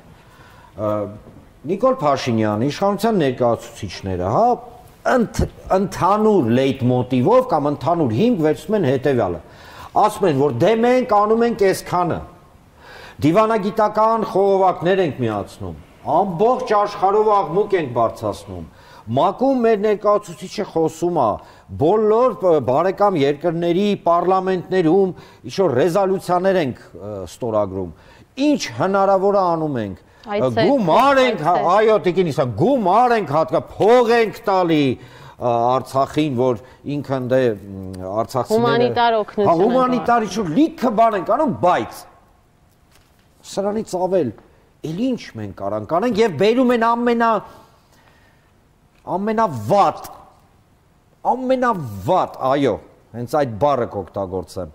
Նիկոլ Փաշինյանը, իշխանության ներկայացուցիչները, հա, ընդհանուր լեյտմոտիվով կամ ընդհանուր հիմք վերցնում են հետևյալը։ Ասում են, որ դե մենք անում ենք այսքանը, դիվանագիտական խողովակներ ենք միացնում, ամբողջ աշխարհով աղմուկ ենք բարձրացնում, ՄԱԿ-ում մեր ներկայացուցիչը խոսում է, բոլոր բարեկամ երկրների պարլամենտներում ինչ-որ ռեզոլյուցիաներ ենք ստորագրում, ինչ հնարավոր է անում ենք, գումար ենք, այո, տիկին իսա, գումար ենք հատկա, փող ենք տալի Արցախին, որ ինքն դե արցախցիները հումանիտար օգնություն են, հումանիտար ինչ-որ լիքը բան ենք անում, բայց սրանից ավել էլ ինչ մենք կարանք անենք եւ բերում են ամենա ամենավատ ամենավատ, այո, հենց այդ բառը կօգտագործեմ,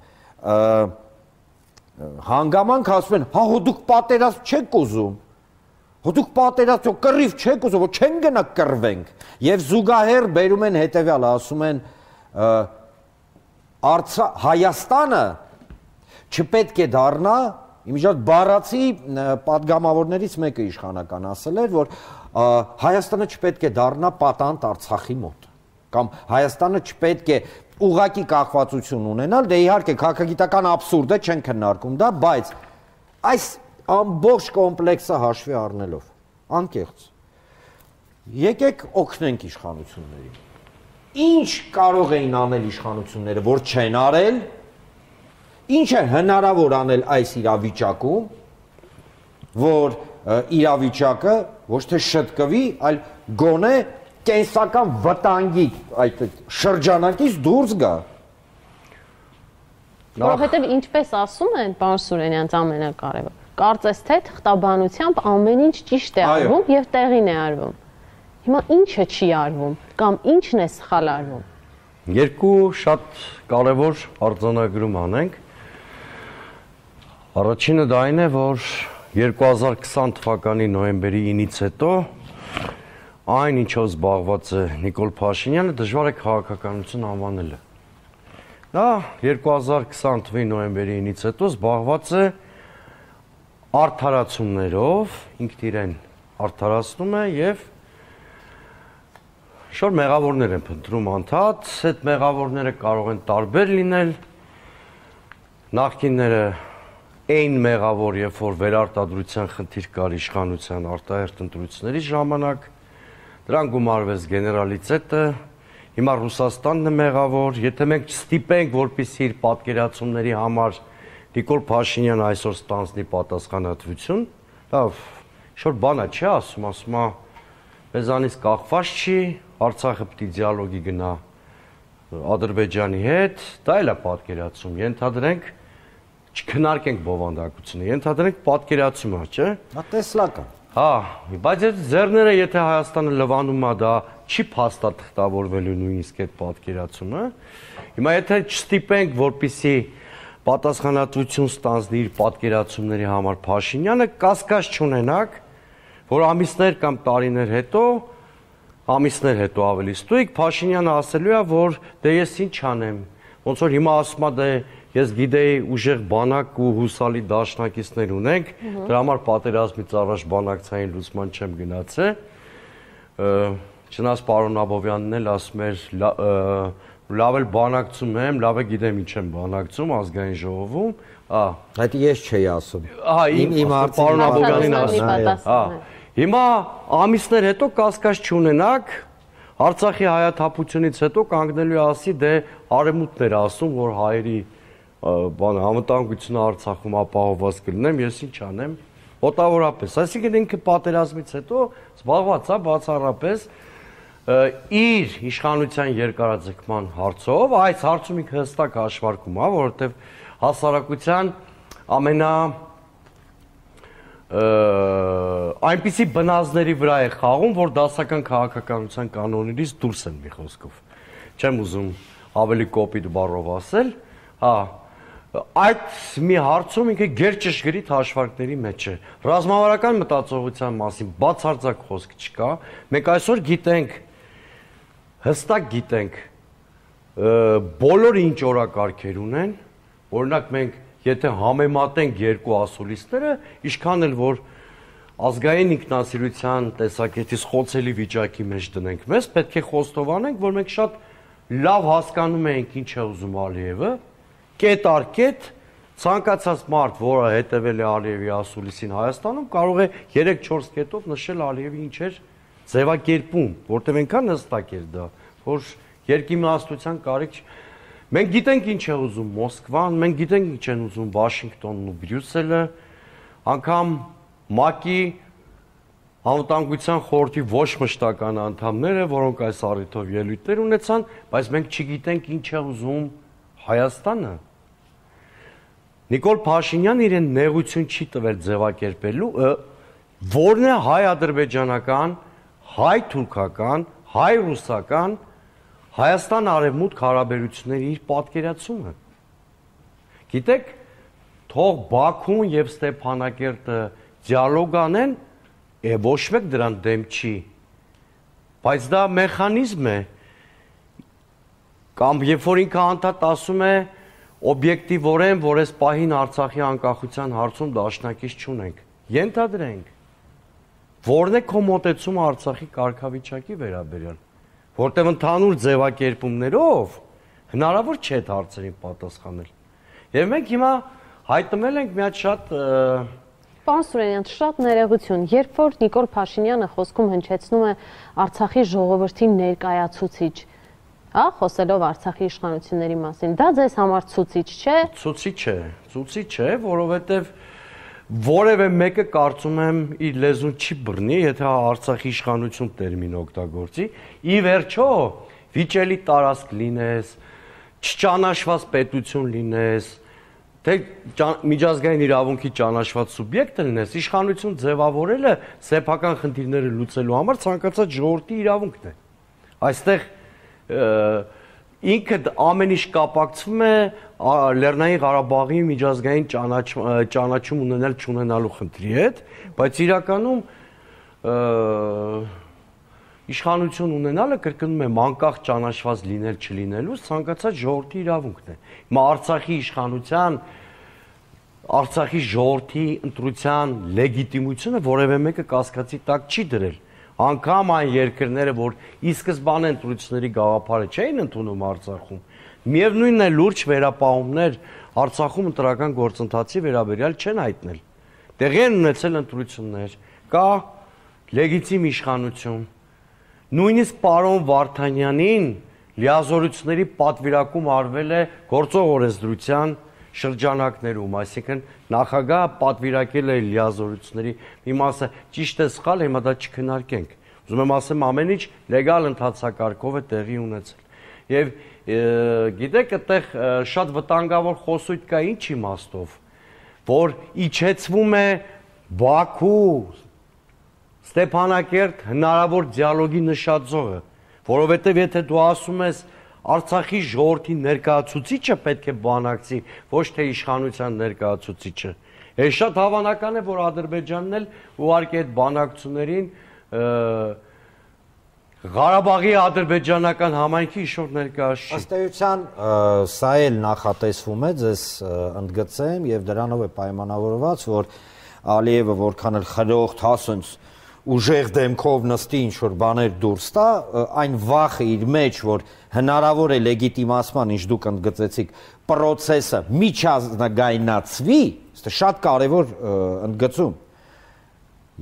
հանգամանք ասում են, հա հոդուկ պատերազմ չեք ուզում, հոդուկ պատերազմ կռիվ չեք ուզում, որ չեն գնա կռվենք, եւ զուգահեռ բերում են հետեւյալը, ասում են Հայաստանը չպետք է դառնա, իմիջիալ բառացի պատգամավորներից մեկը իշխանական ասել էր, որ Հայաստանը չպետք է դառնա պատանդ Արցախի մոտ, կամ Հայաստանը չպետք է ուղղակի կախվածություն ունենալ, դե իհարկե քաղաքագիտական աբսուրդ է, չեն քննարկում դա, բայց այս ամբողջ կոմպլեքսը հաշվի առնելով, անկեղծ, եկեք օգնենք իշխանություններին, ինչ կարող էին անել իշխանությունները, որ չեն արել, ինչ է հնարավոր անել այս իրավիճակում, որ իրավիճակը ոչ թե շտկվի, այլ գոնե կենսական վտանգի այդ շրջանակից դուրս գա։ Որովհետև ինչպես ասում են, պարոն Սուրենյանց, ամենակարևորը, կարծես թե թղթաբանությամբ ամեն ինչ ճիշտ է արվում եւ տեղին է արվում։ Հիմա ինչը չի արվում կամ ինչն է սխալ արվում։ Երկու շատ կարևոր արձանագրում անենք։ Առաջինը դա այն է, որ երկու հազար քսան թվականի նոյեմբերի ինից հետո այն ինչով զբաղված է Նիկոլ Փաշինյանը դժվար է քաղաքականություն անվանելը։ Դա երկու հազար քսան թվականի նոյեմբերի ինից հետո զբաղված է արդարացումներով, ինքն իրեն արդարացնում է եւ շոր մեղավորներ են փնտրում անդադ, այդ մեղավորները կարող են տարբեր լինել։ Նախկինները այն մեղավոր, երբ որ վերարտադրության խնդիր կար իշխանության արտահերթ ընտրությունների ժամանակ, դրան գումարվեց գեներալիտետը, հիմա Ռուսաստանն է մեղավոր, եթե մենք չստիպենք, որպեսզի իր պատկերացումների համար Նիկոլ Փաշինյանը այսօր ստանձնի պատասխանատվություն, լավ, շոր բանա չի ասում, ասում է, մեզանից կախված չի, Արցախը պիտի դիալոգի գնա Ադրբեջանի հետ, դա էլ է պատկերացում, ենթադրենք, չքննարկենք բովանդակությունը, ենթադրենք պատկերացումը, չէ՞։ Դա տեսլական։ Հա, բայց այդ ձեռները, եթե Հայաստանը լվանում է, դա չի փաստաթղթավորվելու նույնիսկ այդ պատկերացումը։ Հիմա եթե չստիպենք, որպեսզի պատասխանատվություն ստանձնի իր պատկերացումների համար Փաշինյանը, կասկած չունենակ, որ ամիսներ կամ տարիներ հետո, ամիսներ հետո ավելի ստույգ, Փաշինյանը ասելու է, որ դե ես ինչ անեմ, ոնց որ հիմա ասում է, դե ես գիտեի ուժեղ բանակ ու հուսալի դաշնակիցներ ունենք, դրա համար պատերազմից առաջ բանակցային լուսման չեմ գնացել։ Չնայած պարոն Աբովյանն էլ ասում էր, լավ էլ բանակցում եմ, լավ է գիտեմ ինչ եմ բանակցում ազգային ժողովում, հա։ Այդ ես չէի ասում։ Հա, իմ պարոն Աբովյանին ասում։ Հա։ Հիմա ամիսներ հետո կասկած չունենակ, Արցախի հայաթափությունից հետո կանգնելու է ասի, դե արևմուտքն էր ասում, որ հայերի բան անվտանգությունը Արցախում ապահովված կլինեմ, ես ինչ անեմ, մոտավորապես, այսինքն ինքը պատերազմից հետո զբաղված է բացառապես իր իշխանության երկարաձգման հարցով, այս հարցում ինքը հստակ հաշվարկում է, որովհետև հասարակության ամենա այնպիսի բնազդների վրա է խաղում, որ դասական քաղաքականության կանոններից դուրս են մի խոսքով։ Չեմ ուզում ավելի կոպիտ բառով ասել, հա, այդ մի հարցում ինքը գերճշգրիտ հաշվարկների մեջ է։ Ռազմավարական մտածողության մասին բացարձակ խոսք չկա։ Մենք այսօր գիտենք, հստակ գիտենք, բոլորը ինչ օրակարգեր ունեն, օրինակ մենք եթե համեմատենք երկու ասուլիսները, ինչքան էլ որ ազգային ինքնասիրության տեսակետից խոցելի վիճակի մեջ դնենք մեզ, պետք է խոստովանենք, որ մենք շատ լավ հասկանում ենք ինչ է ուզում Ալիևը, կետ առ կետ ցանկացած մարդ, որը հետևել է Ալիևի ասուլիսին Հայաստանում, կարող է երեք-չորս կետով նշել Ալիևի ինչ էր ձևակերպում, որտեղ այնքան հստակ էր դա, որ երկիմաստության կարիք Մենք գիտենք ինչ է ուզում Մոսկվան, մենք գիտենք ինչ են ուզում Վաշինգտոնն ու Բրյուսելը, անգամ ՄԱԿ-ի անվտանգության խորհրդի ոչ մշտական անդամները, որոնք այս առիթով ելույթներ ունեցան, բայց մենք չգիտենք ինչ է ուզում Հայաստանը։ Նիկոլ Փաշինյանն իրեն նեղություն չի տվել ձևակերպելու, որն է հայ-ադրբեջանական, հայ-թուրքական, հայ-ռուսական Հայաստան-արևմուտք հարաբերությունների իր պատկերացումը։ Գիտեք, թող Բաքուն եւ Ստեփանակերտը դիալոգ անեն, է ոչ մեկ դրան դեմ չի։ Բայց դա մեխանիզմ է։ Կամ երբ որ ինքը անդադ ասում է օբյեկտիվորեն, որ այս պահին Արցախի անկախության հարցում դաշնակից չունենք։ Ենթադրենք, որն է քո մոտեցումը Արցախի կարգավիճակի վերաբերյալ։ Որտեղ ընդհանուր ձևակերպումներով հնարավոր չէ այդ հարցերին պատասխանել։ Եվ մենք հիմա հայտնել ենք մի հատ շատ Պարոն Սուրենյան, շատ ներողություն, երբ որ Նիկոլ Փաշինյանը խոսքում հնչեցնում է Արցախի ժողովրդի ներկայացուցիչ, հա, խոսելով Արցախի իշխանությունների մասին, դա ձեզ համար ցուցիչ չէ։ Ցուցիչ է, ցուցիչ է, որովհետև որևէ մեկը կարծում եմ իր լեզուն չի բռնի, եթե Արցախի իշխանություն տերմին օգտագործի, ի վերջո վիճելի տարածք լինես, չճանաչված պետություն լինես, թե միջազգային իրավունքի ճանաչված սուբյեկտ լինես, իշխանություն ձևավորելը սեփական խնդիրները լուծելու համար ցանկացած ժողովրդի իրավունքն է։ Այստեղ ինքը ամեն ինչ կապակցվում է Լեռնային Ղարաբաղի միջազգային ճանաչում ունենալ չունենալու խնդրի հետ, բայց իրականում իշխանություն ունենալը կրկնում եմ անկախ ճանաչված լինել չլինելու ցանկացած ժողովրդի իրավունքն է։ Հիմա Արցախի իշխանության Արցախի ժողովրդի ընտրության լեգիտիմությունը որևէ մեկը կասկածի տակ չի դրել։ Անկամ այն երկրները, որ ի սկզբանե ընտրությունների գաղափարը չէին ընդունում Արցախում, միևնույնն է լուրջ վերապահումներ Արցախում ընտրական գործընթացի վերաբերյալ չեն հայտնել։ Տեղի են ունեցել ընտրություններ, կա լեգիտիմ իշխանություն։ Նույնիսկ պարոն Վարդանյանին լիազորությունների պատվիրակում արվել է գործող օրենսդրության շրջանակներում, այսինքն նախագահը պատվիրակել է լիազորությունների մի մասը ճիշտ է սխալ, հիմա դա չքննարկենք։ Ուզում եմ ասեմ, ամեն ինչ լեգալ ընթացակարգով է տեղի ունեցել։ Եվ գիտեք, այդտեղ շատ վտանգավոր խոսույթ կա ինչ իմաստով, որ իջեցվում է Բաքու, Ստեփանակերտ հնարավոր դիալոգի նշաձողը, որովհետև եթե դու ասում ես Արցախի ժողովրդի ներկայացուցիչը պետք է բանակցի, ոչ թե իշխանության ներկայացուցիչը։ Է շատ հավանական է, որ Ադրբեջանն էլ ուղարկի այդ բանակցություններին Ղարաբաղի ադրբեջանական համայնքի ինչ-որ ներկայացուցիչ։ Ըստ էության սա էլ նախատեսվում է, ձեզ ընդգծեմ, եւ դրանով է պայմանավորված, որ Ալիևը որքան էլ խրոխտ հասնց ուժեղ դեմքով նստի ինչ-որ բաներ դուրս տա, այն վախը իր մեջ, որ հնարավոր է լեգիտիմացման, ինչ դուք ընդգծեցիք, պրոցեսը միջազգայնացվի, դա շատ կարևոր ընդգծում։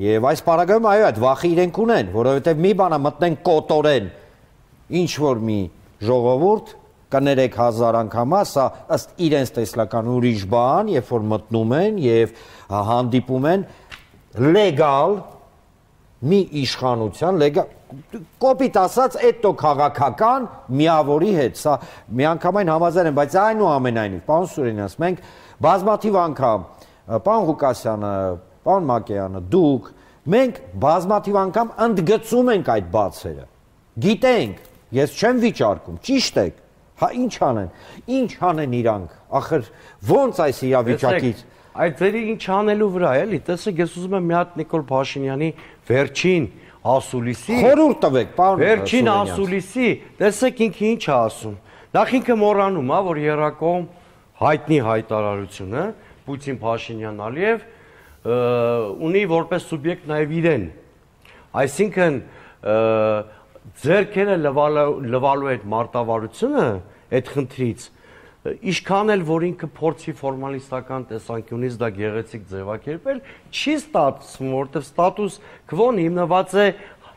Եվ այս պարագայում այո, այդ վախը իրենք ունեն, որովհետև մի բանա մտնեն կոտորեն ինչ-որ մի ժողովուրդ, կներեք հազար անգամա, սա ըստ իրենց տեսլական ուրիշ բան, երբ որ մտնում են եւ հանդիպում են լեգալ մի իշխանության լեգալ կոպիտ ասած էտո քաղաքական միավորի հետ, սա միանգամայն համաձայն եմ, բայց այնուամենայնիվ, պարոն Սուրենյանց, մենք բազմաթիվ անգամ, պարոն Ղուկասյանը, պարոն Մակեյանը, դուք, մենք բազմաթիվ անգամ ընդգծում ենք այդ բացերը, գիտենք, ես չեմ վիճարկում, ճիշտ եք, հա ինչ անեն, ինչ անեն իրանք, ախր ոնց այս իրավիճակից։ Այդ ձերի ինչ անելու վրա էլի, տեսեք, ես ուզում եմ մի հատ Նիկոլ Փաշինյանի վերջին ասուլիսի, խորհուրդ տվեք, պարոն վերջին ասուլիսի, տեսեք ինքը ինչ է ասում։ Նախ ինքը մոռանում է, որ եռակողմ հայտնի հայտարարությունը Պուտին Փաշինյան Ալիև ունի որպես սուբյեկտ նաև իրեն։ Այսինքն ձեռքերը լվալու այդ մարտավարությունը այդ խնդրից Իշքան էլ, որ ինքը փորձի ֆորմալիստական տեսանկյունից դա գեղեցիկ ձևակերպել, չի ստացվում, որովհետև ստատուս քվոն հիմնված է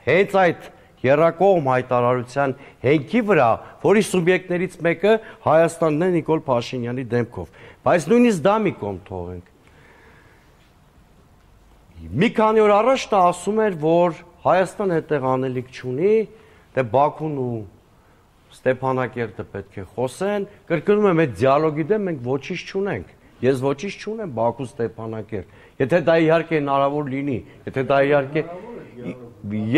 հենց այդ եռակողմ հայտարարության հենքի վրա, որի սուբյեկտներից մեկը Հայաստանն է Նիկոլ Փաշինյանի դեմքով։ Բայց նույնիսկ դա մի կողմ թողենք։ Մի քանի օր առաջ նա ասում էր, որ Հայաստանը այդտեղ անելիք չունի, դե Բաքուն ու Ստեփանակերտը պետք է խոսեն, կրկնում եմ, այդ դիալոգի դեմ մենք ոչինչ չունենք։ Ես ոչինչ չունեմ Բաքու Ստեփանակերտ։ Եթե դա իհարկե հնարավոր լինի, եթե դա իհարկե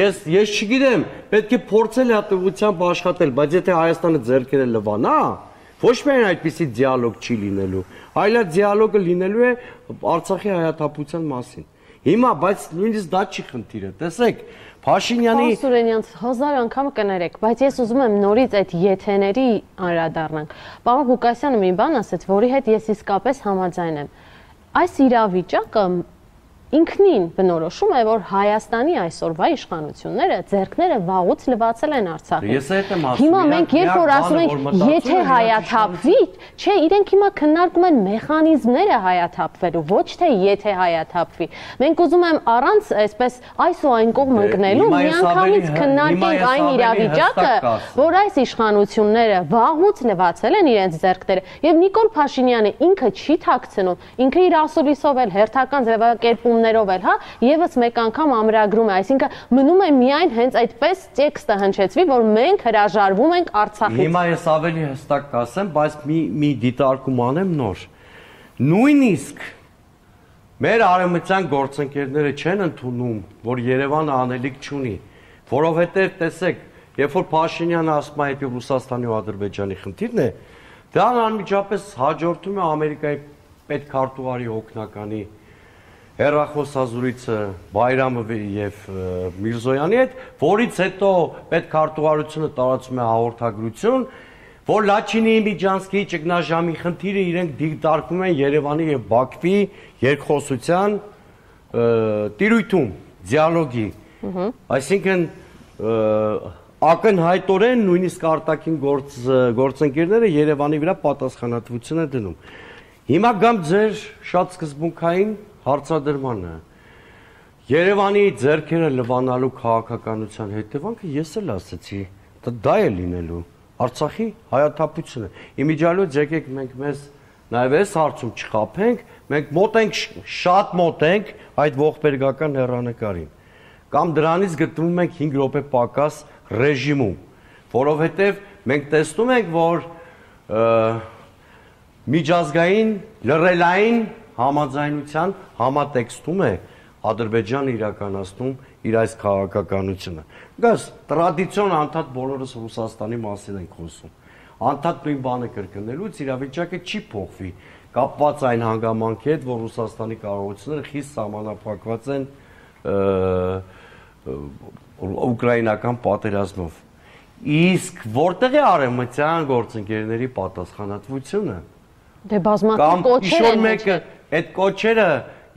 ես ես չգիտեմ, պետք է փորձել հատուությամբ աշխատել, բայց եթե Հայաստանը ձեռքերը լվանա, ոչ միայն այդպիսի դիալոգ չի լինելու, այլ այդ դիալոգը լինելու է Արցախի հայաթափության մասին։ Հիմա, բայց նույնիսկ դա չի խնդիրը, տեսեք, Փաշինյանի Պարոն Սուրենյանց, հազար անգամ կներեք, բայց ես ուզում եմ նորից այդ եթեների անդրադառնանք։ Պարոն Ղուկասյանը մի բան ասեց, որի հետ ես իսկապես համաձայն եմ։ Այս իրավիճակը ինքնին բնորոշում է, որ Հայաստանի այսօրվա իշխանությունները ձեռքները վաղուց լվացել են Արցախին։ Հիմա մենք երբ որ ասում ենք, եթե հայաթափվի, չէ, իրենք հիմա քննարկում են մեխանիզմները հայաթափվելու, ոչ թե եթե հայաթափվի։ Մենք ուզում եմ առանց այսպես այս ու այն կողմ ընկնելու միանգամից քննարկենք այն իրավիճակը, որ այս իշխանությունները վաղուց լվացել են իրենց ձեռքները, եւ Նիկոլ Փաշինյանը ինքը չի թաքցնում, ինքը իր ասուլիսով էլ հերթական ձևակերպում ներով էլ, հա, եւս մեկ անգամ ամրագրում է, այսինքն մնում է միայն հենց այդպես տեքստը հնչեցվի, որ մենք հրաժարվում ենք Արցախից։ Հիմա ես ավելի հստակ կասեմ, բայց մի մի դիտարկում անեմ նոր։ Նույնիսկ մեր արևմտյան գործընկերները չեն ընդունում, որ Երևանը անելիք չունի, որովհետեւ տեսեք, երբ որ Փաշինյանը ասում է այդ Ռուսաստանի ու Ադրբեջանի խնդիրն է, դա անմիջապես հաջորդում է Ամերիկայի պետքարտուղարի օգնականի հեռախոսազրույցը Բայրամովի եւ Միրզոյանի հետ, որից հետո պետքարտուղարությունը տարածում է հաղորդագրություն, որ Լաչինի Միջանցքի ճգնաժամի խնդիրը իրենք դիտարկում են Երևանի եւ Բաքվի երկխոսության տիրույթում, դիալոգի։ Այսինքն ակնհայտորեն նույնիսկ արտաքին գործընկերները Երևանի վրա պատասխանատվություն են դնում։ Հիմա գամ ձեր շատ սկզբունքային հարցադրմանը։ Երևանի ձեռքերը լվանալու քաղաքականության հետևանքը ես էլ ասացի, դա է լինելու Արցախի հայաթափությունը։ Իմիջիալոց եկեք մենք մեզ նաև այս հարցում չխաբենք, մենք մոտ ենք, շատ մոտ ենք այդ ողբերգական հեռանկարին։ Կամ դրանից գտնվում ենք հինգ րոպե պակաս ռեժիմում, որովհետև մենք տեսնում ենք, որ միջազգային լրելային համաձայնության համատեքստում է Ադրբեջանը իրականացնում իր այս քաղաքականությունը։ Գաս տրադիցիոն անդադ բոլորս Ռուսաստանի մասին ենք խոսում։ Անդադ նույն բանը կրկնելուց իրավիճակը չի փոխվի, կապված այն հանգամանքի հետ, որ Ռուսաստանի կարողությունները խիստ սահմանափակված են ուկրաինական պատերազմով։ Իսկ որտեղ է արևմտյան գործընկերների պատասխանատվությունը։ Դե բազմաթիվ կոչեր են։ մեկը այդ կոչերը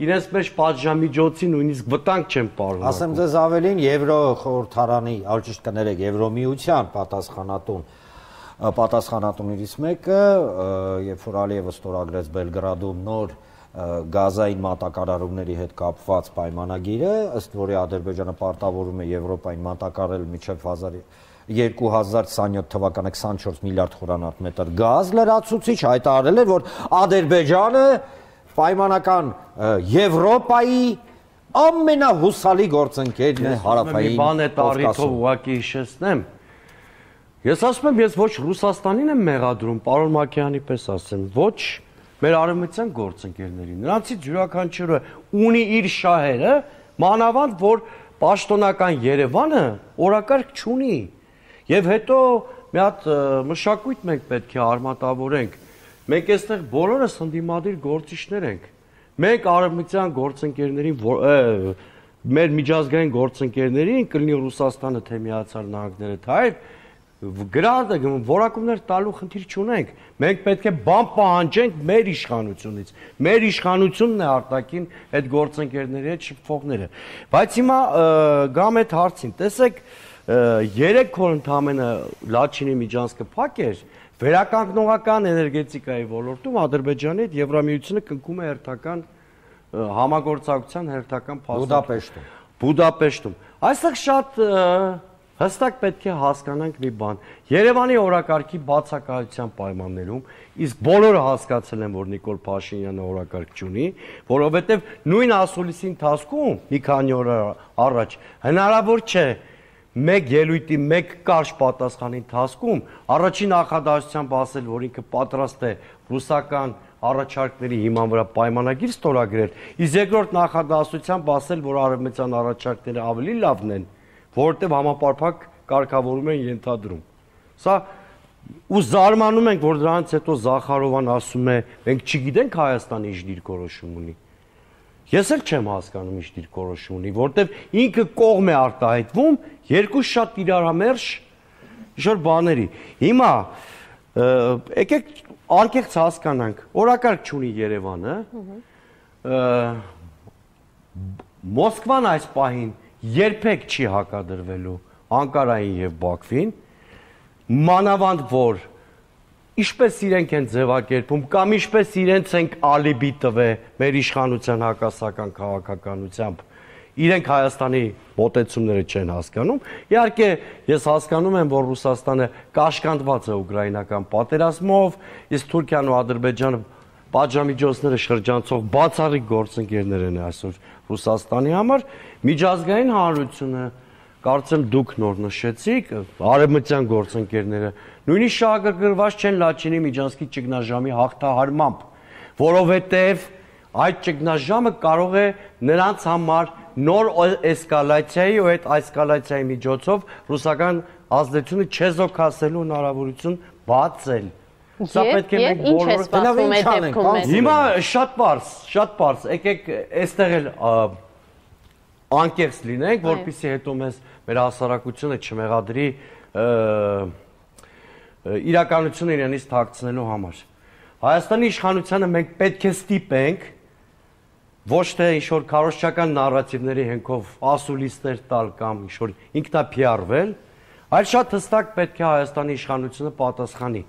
իրենց մեջ պատժամիջոցի նույնիսկ վտանգ չեն պարունակում։ Ասեմ ձեզ ավելին, Եվրո խորհրդարանի, այլ ճիշտ կներեք, Եվրոմիության պատասխանատուն պատասխանատուներից մեկը, երբ որ Ալիևը ստորագրեց Բելգրադում նոր գազային մատակարարումների հետ կապված պայմանագիրը, ըստ որի Ադրբեջանը պարտավորում է Եվրոպային մատակարարել մինչև երկու հազար քսաներորդ թվականը քսանչորս միլիարդ խորանարդ գազ լրացուցիչ, հայտարարել էր, որ Ադրբեջանը պայմանական Եվրոպայի ամենահուսալի գործընկերն է հարավային բան է տարիքով ուղղակի հիշեցնեմ։ Ես ասում եմ, ես ոչ Ռուսաստանին եմ մեղադրում, պարոն Մակեյանի պես ասեմ, ոչ մեր արևմտյան գործընկերներին։ Նրանցից յուրաքանչյուրը ունի իր շահերը, մանավանդ որ պաշտոնական Երևանը օրակարգ չունի։ Եվ հետո մի հատ մշակույթ մենք պետք է արմատավորենք։ Մենք այստեղ բոլորս ընդդիմադիր գործիչներ ենք։ Մենք արևմտյան գործընկերներին, մեր միջազգային գործընկերներին, կլինի Ռուսաստանը, թե Միացյալ Նահանգները, թե այլ, գրադը որակումներ տալու խնդիր չունենք։ Մենք պետք է բան պահանջենք մեր իշխանությունից։ Մեր իշխանությունն է արտաքին այդ գործընկերների հետ շփվողները։ Բայց հիմա գամ այդ հարցին, տեսեք, երեք օր ընդամենը Լաչինի Միջանցքը փակ էր, վերականգնողական էներգետիկայի ոլորտում Ադրբեջանի հետ Եվրամիությունը կնքում է հերթական համագործակցության հերթական փաստաթղթ Բուդապեշտում։ Բուդապեշտում։ Այստեղ շատ հստակ պետք է հասկանանք մի բան։ Երևանի օրակարգի բացակայության պայմաններում, իսկ բոլորը հասկացել են, որ Նիկոլ Փաշինյանը օրակարգ չունի, որովհետև նույն ասուլիսի ընթացքում մի քանի օր առաջ հնարավոր չէ մեկ ելույթի մեկ կարճ պատասխանի ընթացքում առաջին նախադասությամբ ասել, որ ինքը պատրաստ է ռուսական առաջարկների հիման վրա պայմանագիր ստորագրել, իսկ երկրորդ նախադասությամբ ասել, որ արևմտյան առաջարկները ավելի լավն են, որովհետև համապարփակ կարգավորում են ենթադրում։ Սա ու զարմանում ենք, որ դրանից հետո Զախարովան ասում է, մենք չգիտենք Հայաստանը ինչ դիրքորոշում ունի։ Ես էլ չեմ հասկանում ինչ դիրքորոշում ունի, որովհետև ինքը կողմ է արտահայտվում երկու շատ իրարամերժ ինչ-որ բաների։ Հիմա եկեք անկեղծ հասկանանք, օրակարգ չունի Երևանը, Մոսկվան այս պահին երբեք չի հակադրվելու Անկարային եւ Բաքվին, մանավանդ որ ինչպես իրենք են ձևակերպում կամ ինչպես իրենց ենք ալիբի տվել մեր իշխանության հակասական քաղաքականությամբ, իրենք Հայաստանի մոտեցումները չեն հասկանում։ Իհարկե, ես հասկանում եմ, որ Ռուսաստանը կաշկանդված է ուկրաինական պատերազմով, իսկ Թուրքիան ու Ադրբեջանը պատժամիջոցները շրջանցող բացառիկ գործընկերներ են այսօր Ռուսաստանի համար, միջազգային հանրությունը, կարծեմ դուք նոր նշեցիք, արևմտյան գործընկերները նույնիսկ շահագրգռված չեն Լաչինի Միջանցքի ճգնաժամի հաղթահարմամբ, որովհետև այդ ճգնաժամը կարող է նրանց համար նոր էսկալացիայի ու այդ էսկալացիայի միջոցով ռուսական ազդեցությունը չեզոքացնելու հնարավորություն բացել։ Սա պետք է մենք բոլորը հիմա շատ բարձ, շատ բարձ, եկեք այստեղ էլ անկեղծ լինենք, որպեսզի հետո մեզ մեր հասարակությունը չմեղադրի իրականությունը իրենից թաքցնելու համար։ Հայաստանի իշխանությանը մենք պետք է ստիպենք ոչ թե ինչ-որ քարոզչական նարատիվների հենքով ասուլիսներ տալ կամ ինչ-որ ինքնափիարվել, այլ շատ հստակ պետք է Հայաստանի իշխանությունը պատասխանի։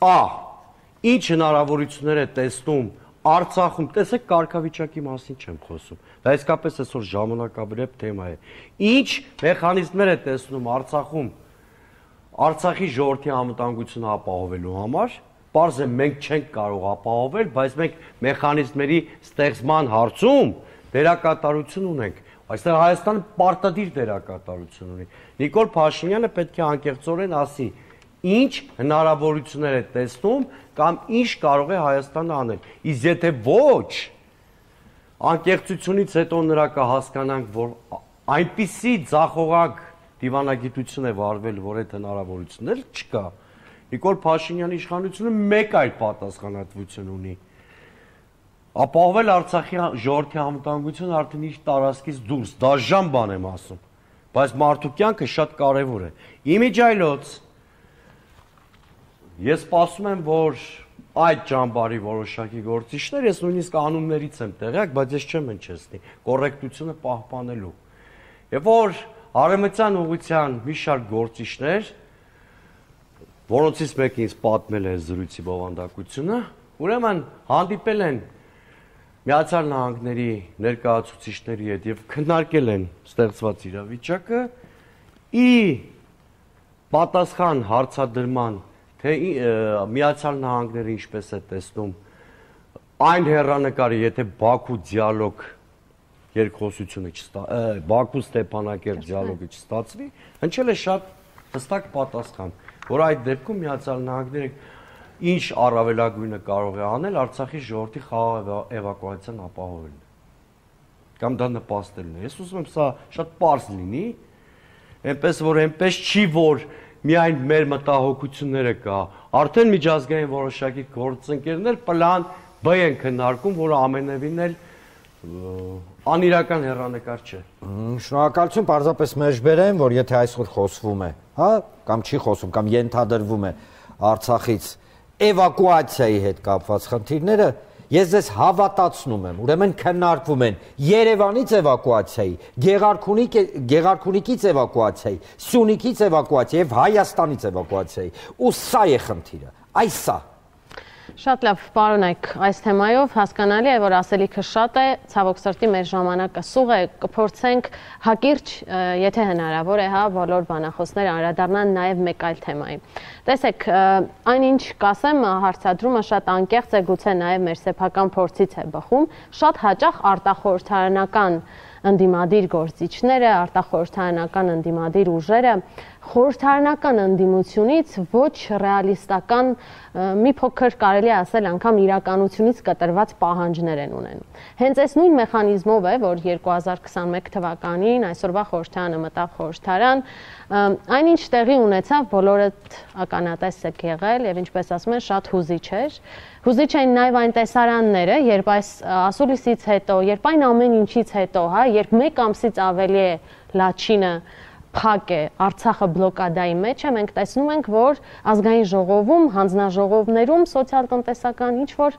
Ա. Ինչ հնարավորություններ է տեսնում Արցախում, տեսեք կարգավիճակի մասին չեմ խոսում, դա իսկապես այսօր ժամանակաբերებ թեմա է։ Ինչ մեխանիզմներ է տեսնում Արցախում Արցախի ժողովրդի անվտանգությունը ապահովելու համար, պարզ է մենք չենք կարող ապահովել, բայց մենք մեխանիզմների ստեղծման հարցում դերակատարություն ունենք։ Այստեղ Հայաստանը պարտադիր դերակատարություն ունի։ Նիկոլ Փաշինյանը պետք է անկեղծորեն ասի, ինչ հնարավորություններ է տեսնում կամ ինչ կարող է Հայաստանը անել։ Իսկ եթե ոչ, անկեղծությունից հետո նրա կհասկանանք, որ այնպիսի ձախողակ դիվանագիտություն է վարվել, որ այդ հնարավորություններ չկա։ Նիկոլ Փաշինյանի իշխանությունը մեկ այլ պատասխանատվություն ունի։ Ապահովել Արցախի ժողովրդի անվտանգությունը արդեն իր տարածքից դուրս, դաժան բան եմ ասում, բայց մարդու կյանքը շատ կարևոր է։ Իմիջայլոց ես սպասում եմ, որ այդ ճամբարի որոշակի գործիչներ, ես նույնիսկ անուններից եմ տեղյակ, բայց ես չեմ հնչեցնի, կոռեկտությունը պահպանելու։ Եվ որ արևմտյան ուղղության մի շարք գործիչներ, որոնցից մեկը ինձ պատմել է զրույցի բովանդակությունը, ուրեմն հանդիպել են Միացյալ Նահանգների ներկայացուցիչների հետ եւ քննարկել են ստեղծված իրավիճակը, ի պատասխան հարցադրման, թե Միացյալ Նահանգները ինչպես է տեսնում այն հեռանկարը, եթե Բաքու դիալոգ երկխոսությունը չստա, Բաքու Ստեփանակերտ դիալոգը չստացվի, հնչել է շատ հստակ պատասխան, որ այդ դեպքում Միացյալ Նահանգները ինչ առավելագույնը կարող է անել Արցախի ժողովրդի խաղաղ էվակուացիան ապահովելն է։ Կամ դա նպաստելն է։ Ես ուզում եմ սա շատ պարզ լինի, այնպես որ այնպես չի, որ միայն մեր մտահոգությունները կա, արդեն միջազգային որոշակի գործընկերներ պլան B են քննարկում, որը ամենևին էլ անիրական հեռանկար չէ։ Շնորհակալություն, պարզապես մեջբերեմ, որ եթե այսօր խոսվում է, հա, կամ չի խոսում, կամ ենթադրվում է Արցախից էվակուացիայի հետ կապված խնդիրները, ես ձեզ հավատացնում եմ, ուրեմն քննարկվում են Երևանից էվակուացիայի, Գեղարքունիքից էվակուացիայի, Սյունիքից էվակուացիայի եւ Հայաստանից էվակուացիայի, ու սա է խնդիրը, այս սա։ Շատ լավ, պարոնայք, այս թեմայով հասկանալի է, որ ասելիքը շատ է, ցավոք սրտի մեր ժամանակը սուղ է, կփորձենք հակիրճ, եթե հնարավոր է, հա, բոլոր բանախոսները անդրադառնան նաև մեկ այլ թեմայի։ Տեսեք, այնինչ կասեմ, հարցադրումը շատ անկեղծ է, գուցե նաև մեր սեփական փորձից է բխում, շատ հաճախ արտախորհրդարանական ընդդիմադիր գործիչները, արտախորհրդարանական ընդդիմադիր ուժերը խորհրդարանական ընդդիմությունից ոչ ռեալիստական, մի փոքր կարելի է ասել անգամ իրականությունից կտրված պահանջներ են ունենում։ Հենց այս նույն մեխանիզմով է, որ երկու հազար քսաներկու թվականին այսօրվա խորհրդարանը մտավ խորհրդարան, այնինչ տեղի ունեցավ, բոլորդ ականատես եք եղել եւ ինչպես ասում են, շատ հուզիչ էր։ Հուզիչ էին նաև այն տեսարանները, երբ այս ասուլիսից հետո, երբ այն ամեն ինչից հետո, հա, երբ մեկ ամսից ավելի է Լաչինը փակ է, Արցախը բլոկադայի մեջ է, մենք տեսնում ենք, որ ազգային ժողովում, հանձնաժողովներում սոցիալ-տնտեսական ինչ-որ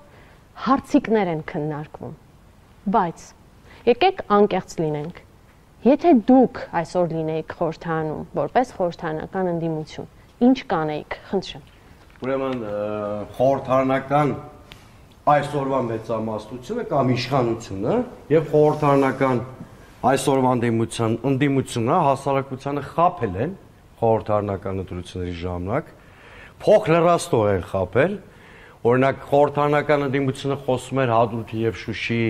հարցիկներ են քննարկվում։ Բայց եկեք անկեղծ լինենք։ Եթե դուք այսօր լինեիք խորհրդարանում, որպես խորհրդարանական ընդդիմություն, ինչ կանեիք, խնդրեմ։ Ուրեմն խորհրդարանական այսօրվա մեծամասնությունը կամ իշխանությունը եւ խորհրդարանական այսօրվա ընդդիմությունը հասարակությանը խաբել են խորհրդարանական ընտրությունների ժամանակ, փող լրաստող են խաբել, օրինակ խորհրդարանական ընդդիմությունը խոսում էր Հադրութի եւ Շուշիի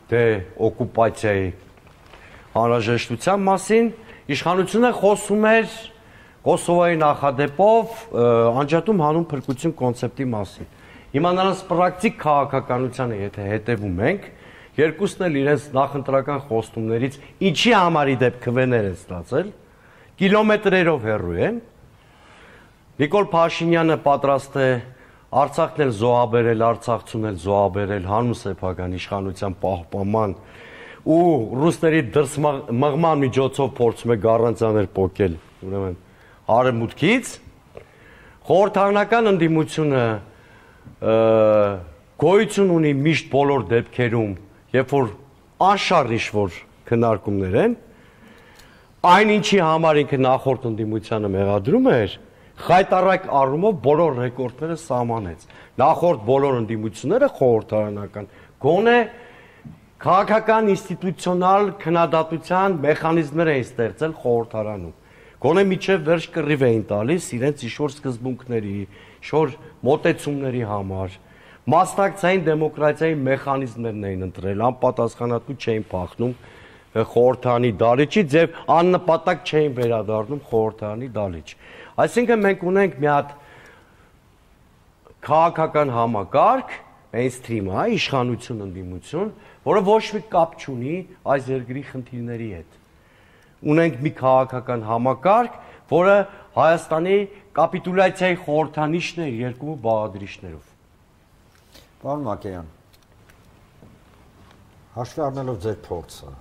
դե օկուպացիայի անհրաժեշտության մասին, իշխանությունը խոսում էր Կոսովոյի նախադեպով անջատում հանուն փրկություն կոնցեպտի մասին։ Հիմա նրանց պրակտիկ քաղաքականությանը եթե հետևում ենք, երկուսն էլ իրենց նախընտրական խոստումներից ինչի համար ի դեպ քվեներ են ստացել, կիլոմետրերով հեռու են։ Նիկոլ Փաշինյանը պատրաստ է Արցախն էլ զոհաբերել, Արցախցուն էլ զոհաբերել հանուն սեփական իշխանության պահպանման ու ռուսների դրս մղման միջոցով փորձում է գառանցաներ պոկել, ուրեմն արևմուտքից, խորհրդարանական ընդդիմությունը գոյություն ունի միշտ բոլոր դեպքերում, երբ որ անշարժ որ քննարկումներ են, այն ինչի համար ինքը նախորդ ընդդիմությանը մեղադրում էր, խայտառակ առումով բոլոր ռեկորդները սահմանեց։ Նախորդ բոլոր ընդդիմությունները խորհրդարանական գոնե քաղաքական ինստիտուցիոնալ քննադատության մեխանիզմներ էին ստեղծել խորհրդարանում։ Գոնե միջև վերջ կռիվ էին տալիս իրենց ինչ-որ սկզբունքների, ինչ-որ մոտեցումների համար։ Մասնակցային դեմոկրատիայի մեխանիզմներն էին ընտրել, անպատասխանատու չէին փախնում խորհրդարանի դալիճից եւ աննպատակ չէին վերադառնում խորհրդարանի դալիճ։ Այսինքն մենք ունենք մի հատ քաղաքական համակարգ, mainstream, հա, իշխանություն, ընդդիմություն, որը ոչ մի կապ չունի այս երկրի խնդիրների հետ։ Ունենք մի քաղաքական համակարգ, որը Հայաստանի կապիտուլյացիայի խորհրդանիշն է երկու բաղադրիչներով։ Պարոն Մակեյան, հաշվի առնելով ձեր փորձը,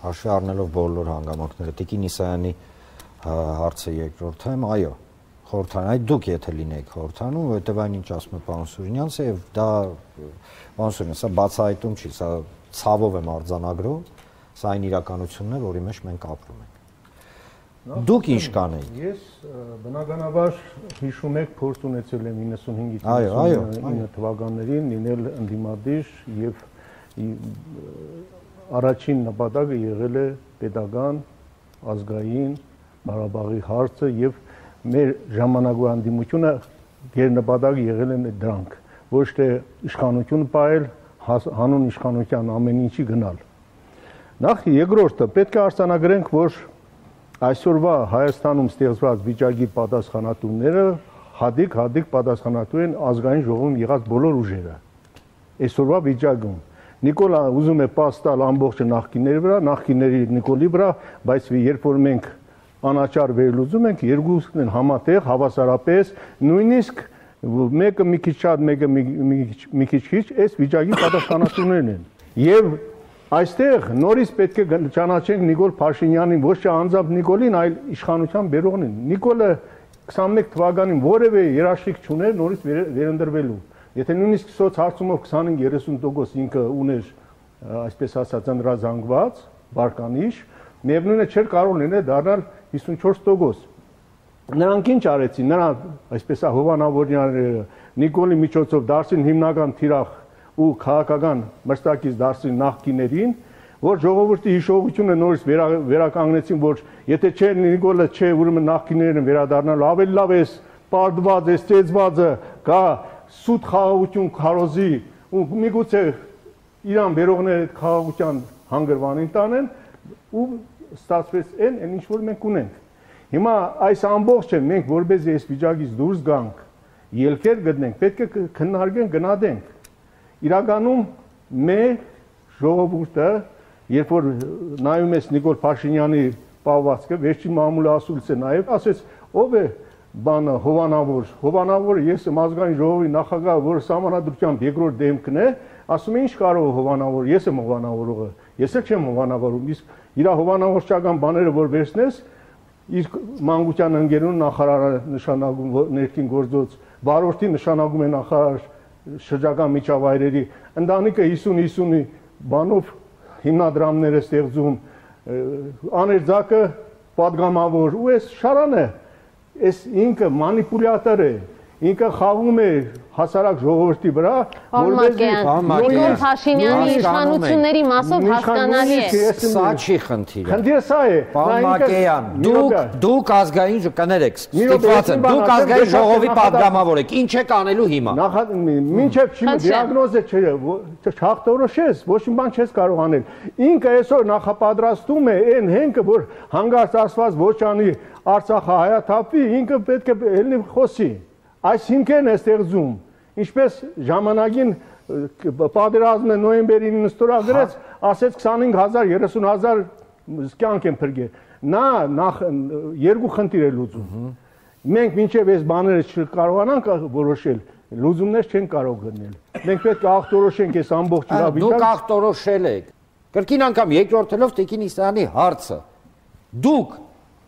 հաշվի առնելով բոլոր հանգամանքները, Տիկին Իսայանի հարցը երկրորդեմ, այո, խորհրդարան, այդ դուք եթե լինեիք խորհրդարանում, որովհետև այն ինչ ասում է պարոն Սուրինյանցը, եւ դա պարոն Սուրինյան, սա բացահայտում չի, սա ցավով եմ արձանագրում, սա այն իրականությունն է, որի մեջ մենք ապրում ենք։ Դուք ինչ կանեիք։ Ես բնականաբար հիշում եք փորձ ունեցել եմ իննսունհինգից իննսունինը թվականներին լինել ընդդիմադիր եւ առաջին նպատակը եղել է պետական, ազգային, Ղարաբաղի հարցը եւ մեր ժամանակվա ընդդիմությունը գերնպատակը եղել են դրանք, ոչ թե իշխանություն պահել, հանուն իշխանության ամեն ինչի գնալ։ Նախ երկրորդը պետք է արձանագրենք, որ այսօրվա Հայաստանում ստեղծված վիճակի պատասխանատուները հատիկ-հատիկ պատասխանատու են ազգային ժողովում եղած բոլոր ուժերը։ Այսօրվա վիճակում Նիկոլա ուզում է պաս տալ ամբողջ նախկինների վրա, նախկինների Նիկոլի վրա, բայց երբ որ մենք անաչառ վերլուծում ենք, երկուսն են համատեղ, հավասարապես, նույնիսկ մեկը մի քիչ շատ, մեկը մի քիչ քիչ, այս վիճակի պատասխանատուներն են։ Եվ այստեղ նորից պետք է ճանաչենք Նիկոլ Փաշինյանին, ոչ թե անձամբ Նիկոլին, այլ իշխանության բերողին։ Նիկոլը քսանմեկ թվականին որևէ երաշխիք չուներ նորից վերընտրվելու։ Եթե նույնիսկ սոցհարցումով քսանհինգ երեսուն տոկոս ինքը ուներ, այսպես ասած, ընդրազանգված, բարկանիշ, միևնույնն է չէր կարող լինել դառնալ հիսունչորս տոկոս։ Նրանք ինչ արեցին, նրանք, այսպես է հովանավորները, Նիկոլի միջոցով դարձին հիմնական թիրախ ու քաղաքական մրցակից դարձին նախկիներին, որ ժողովրդի հիշողությունը նորից վերականգնեցին, որ եթե չէ Նիկոլը չէ, ուրեմն նախկիներն վերադառնալու ավելի լավ է, պարտված է, ստեղծվածը կա սուտ խաղաղություն քարոզի ու միգուցե իրան վերողները այդ խաղաղության հանգրվանին տանեն ու ստացվեց այն, այն ինչ որ մենք ունենք։ Հիմա այս ամբողջը մենք որպես այս վիճակից դուրս գանք, ելքեր գտնենք, պետք է քննարկենք, գնահատենք։ Իրականում մեր ժողովուրդը, երբ որ նայում ես Նիկոլ Փաշինյանի պահվածքը, վերջին մամուլը ասուլց է նայել, ասեց, ով է բանը հովանավոր, հովանավորը ես եմ ազգային ժողովի նախագահ, որը սահմանադրությամբ երկրորդ դեմքն է, ասում է ինչ կարող է հովանավոր, ես եմ հովանավորողը, ես էլ չեմ հովանավորում, իսկ իր հովանավորչական բաները որ վերցնես, իր մանկության ընկերուն նախարարը նշանակում ներքին գործոց, վարորդի նշանակում է նախարար շրջակա միջավայրերի, ընտանիքը հիսուն-հիսունի բանով հիմնադրամներ է ստեղծում, աներձակը պատգամավոր ու այս շարանը Այս ինքը մանիպուլյատոր է, ինքը խաղում է հասարակ ժողովրդի վրա, որովհետեւ Նիկոլ Փաշինյանի իշխանությունների մասով հասկանալի է։ Սա չի խնդիրը։ Խնդիրը սա է։ Պարոն Մակեյան, դուք դուք ազգային կներեք, ստիպված եմ, դուք ազգային ժողովի պատգամավոր եք, ինչ եք անելու հիմա։ Մինչև չի դիագնոզը չհաղթորոշես, ոչ մի բան չես կարող անել։ Ինքը այսօր նախապատրաստում է այն հենքը, որ հանգարց ասված ոչ անի Արցախը հայաթափվի, ինքը պետք է ելնի խոսի։ Այս հիմքերն է ստեղծում, ինչպես ժամանակին պատերազմը նոյեմբերի իննսթորագրեց, ասեց քսանհինգ հազար, երեսուն հազար կյանք են փրկել։ Նա նախ երկու խնդիր է լուծում։ Մենք մինչև այս բաները չկարողանանք որոշել, լուծումներ չեն կարող գտնել։ Մենք պետք է ախտորոշենք այս ամբողջ իրավիճակը։ Դուք ախտորոշել եք։ Կրկին անգամ երկրորդելով Տիկին Իսայանի հարցը։ Դուք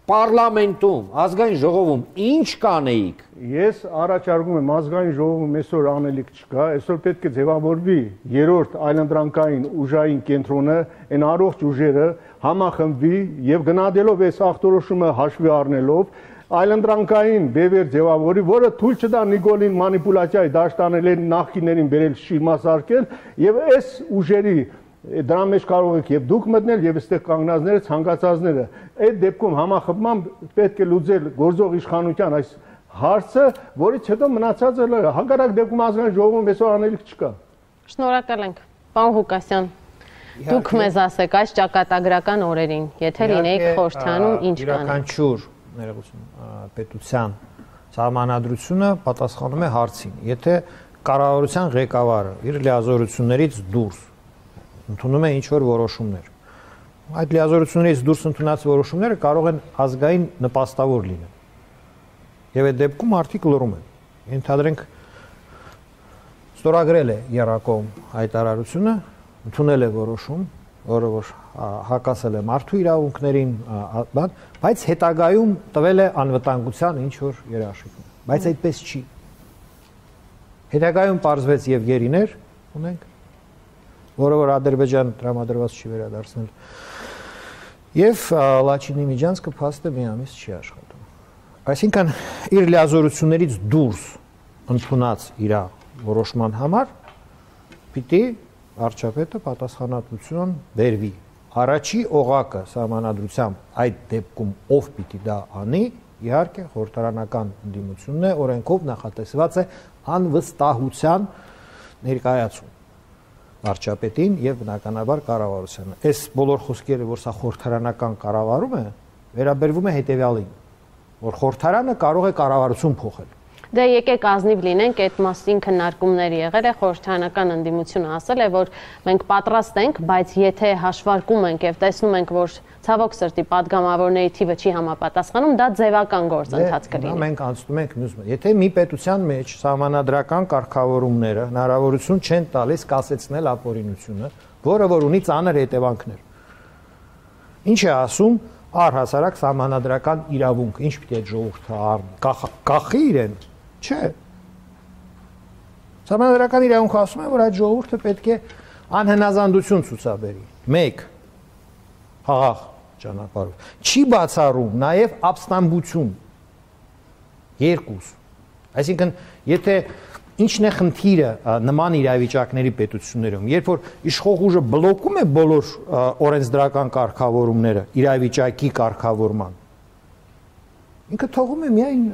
Պարլամենտում, ազգային ժողովում ինչ կանեիք։ Ես առաջարկում եմ ազգային ժողովում այսօր անելիք չկա, այսօր պետք է ձևավորվի երրորդ այլընտրանքային ուժային կենտրոնը, այն առողջ ուժերը համախմբվի եւ գնահատելով այս ախտորոշումը հաշվի առնելով այլընտրանքային բևեր ձևավորի, որը թույլ չտա Նիկոլին մանիպուլյացիայի դաշտանել են նախկիներին բերել շիրմասարկել եւ այս ուժերի դրա մեջ կարող եք եւ դուք մտնել եւ այստեղ կանգնածները ցանկացածները այդ դեպքում համախմբմամբ պետք է լուծել գործող իշխանության այս հարցը, որից հետո մնացածը հակառակ դեպքում ազգային ժողովում այսօր անելիք չկա։ Շնորհակալ ենք, պարոն Ղուկասյան։ Դուք մեզ ասեք այս ճակատագրական օրերին, եթե լինեիք խորհրդանում, ինչ կանեիք։ Յուրաքանչյուր ներողություն պետության սահմանադրությունը պատասխանում է հարցին։ Եթե կառավարության ղեկավարը իր լիազորություններից դուրս ընդունում է ինչ-որ որոշումներ, այդ լիազորություններից դուրս ընդունած որոշումները կարող են ազգային նպաստավոր լինել։ Եվ այդ դեպքում արդյոք լռում են։ Ենթադրենք ստորագրել է Եռակոմ հայտարարությունը, ընդունել է որոշում, որը որ հակասել է մարդու իրավունքներին, բայց հետագայում տվել է անվտանգության ինչ որ երաշխիքներ։ Բայց այդպես չի։ Հետագայում պարզվեց եւ գերիներ ունենք, որը որ Ադրբեջան տրամադրված չի վերադարձնել։ Եվ Լաչինի Միջանցքը փաստը մի ամիս չի աշխատում։ Այսինքն իր լիազորություններից դուրս ընդունած իր որոշման համար պիտի վարչապետը պատասխանատվություն բերվի։ Առաջի օղակը սահմանադրությամբ այդ դեպքում ով պիտի դա անի, իհարկե խորհրդարանական ընդդիմությունն է, օրենքով նախատեսված է անվստահության ներկայացում վարչապետին եւ բնականաբար կառավարությանը։ Այս բոլոր խոսքերը, որ սա խորհրդարանական կառավարում է, վերաբերվում է հետեւյալին, որ խորհրդարանը կարող է կառավարություն փոխել։ Դե եկեք ազնիվ լինենք, այդ մասին քննարկումներ եղել է, խորհրդարանական ընդդիմությունը ասել է, որ մենք պատրաստ ենք, բայց եթե հաշվարկում ենք եւ տեսնում ենք, որ ցավոք սրտի падգամավորների թիվը չի համապատասխանում, դա ձևական գործընթաց կլինի։ Մենք անցնում ենք մյուս։ Եթե մի պետության մեջ սահմանադրական կարգավորումները հնարավորություն չեն տալիս կասեցնել ապօրինությունը, որը որ ունի ծանր հետևանքներ։ Ինչ է ասում առհասարակ սահմանադրական իրավունք, ինչ պիտի այդ ժողովուրդը առնի, կախի իրեն, չէ։ Սահմանադրական իրավունքը ասում է, որ այդ ժողովուրդը պետք է անհնազանդություն ցուցաբերի։ մեկ խաղաղ ճանապարհով։ Չի բացառում նաև ապստամբություն։ երկու։ Այսինքն, եթե ինչն է խնդիրը նման իրավիճակների պետություններում, երբ որ իշխող ուժը բլոկում է բոլոր օրենսդրական կարգավորումները իրավիճակի կարգավորման, ինքը թողում է միայն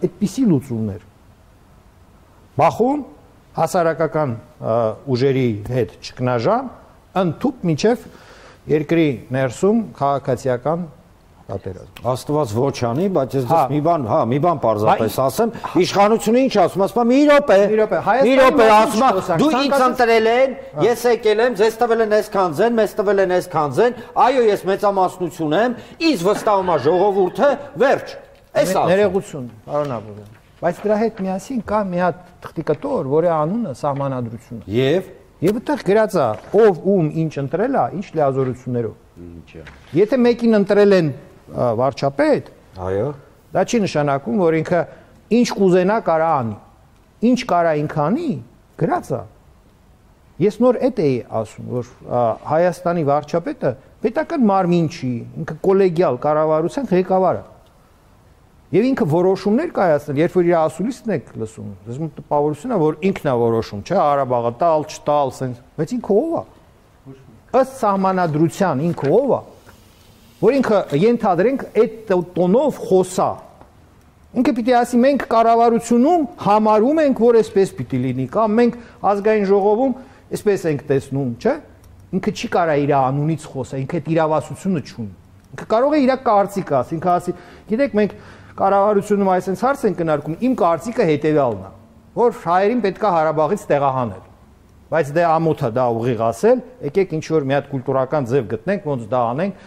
այդպիսի լուծումներ։ Բախում հասարակական ուժերի հետ ճգնաժամ, ընդཐུպ մինչև երկրի ներսում քաղաքացիական պատերազմ։ Աստված ոչ անի, բայց ես դες մի բան, հա, մի բան պարզապես ասեմ, իշխանությունը ինչ ասում, ասում մի րոպե։ Մի րոպե ասում, դու ինձ ընտրել են, ես եկել եմ, ձեզ տվել են այսքան ձեն, մեզ տվել են այսքան ձեն, այո, ես մեծամասնություն եմ, ինձ վստահում է ժողովուրդը, վերջ։ Էս ասում։ Ներողություն, պարոն Աբովյան։ Բայց դրա հետ միասին կա մի հատ թղթիկտոր, որի անունը սահմանադրությունը։ Եվ Եվ այդտեղ գրած է, ով ում ինչ ընտրել է, ինչ լիազորություններով։ Ինչա։ Եթե մեկին ընտրել են վարչապետ, այո, դա չի նշանակում, որ ինքը ինչ կուզենա կարա անի։ Ինչ կարա ինքը անի, գրած է։ Ես նոր այդ էի ասում, որ Հայաստանի վարչապետը պետական մարմին չի, ինքը կոլեգիալ կառավարության ղեկավարը։ Եվ ինքը որոշումներ կայացնել, երբ որ իր ասուլիսն եք լսում, դες մոտ տպավորություն է, որ ինքն է որոշում, չէ, Ղարաբաղը տալ, չտալ, սենց, բայց ինքը ով է։ Ըստ սահմանադրության ինքը ով է, որ ինքը ենթադրենք այդ տոնով խոսա։ Ինքը պիտի ասի մենք կառավարությունում համարում ենք, որ այսպես պիտի լինի, կամ մենք ազգային ժողովում այսպես ենք տեսնում, չէ։ Ինքը չի կարա իր անունից խոսա, ինքը այդ իրավասությունը չունի։ Ինքը կարող է իր կարծիքը ասի, ինքը ասի, գիտեք, մենք կառավարությունում այսպես հարց են կնարկում, իմ կարծիքը հետևյալն է, որ հայերին պետքա Ղարաբաղից տեղահանել։ Բայց դե ամոթ է դա ուղիղ ասել, եկեք ինչ որ մի հատ կուլտուրական ձև գտնենք, ոնց դա անենք,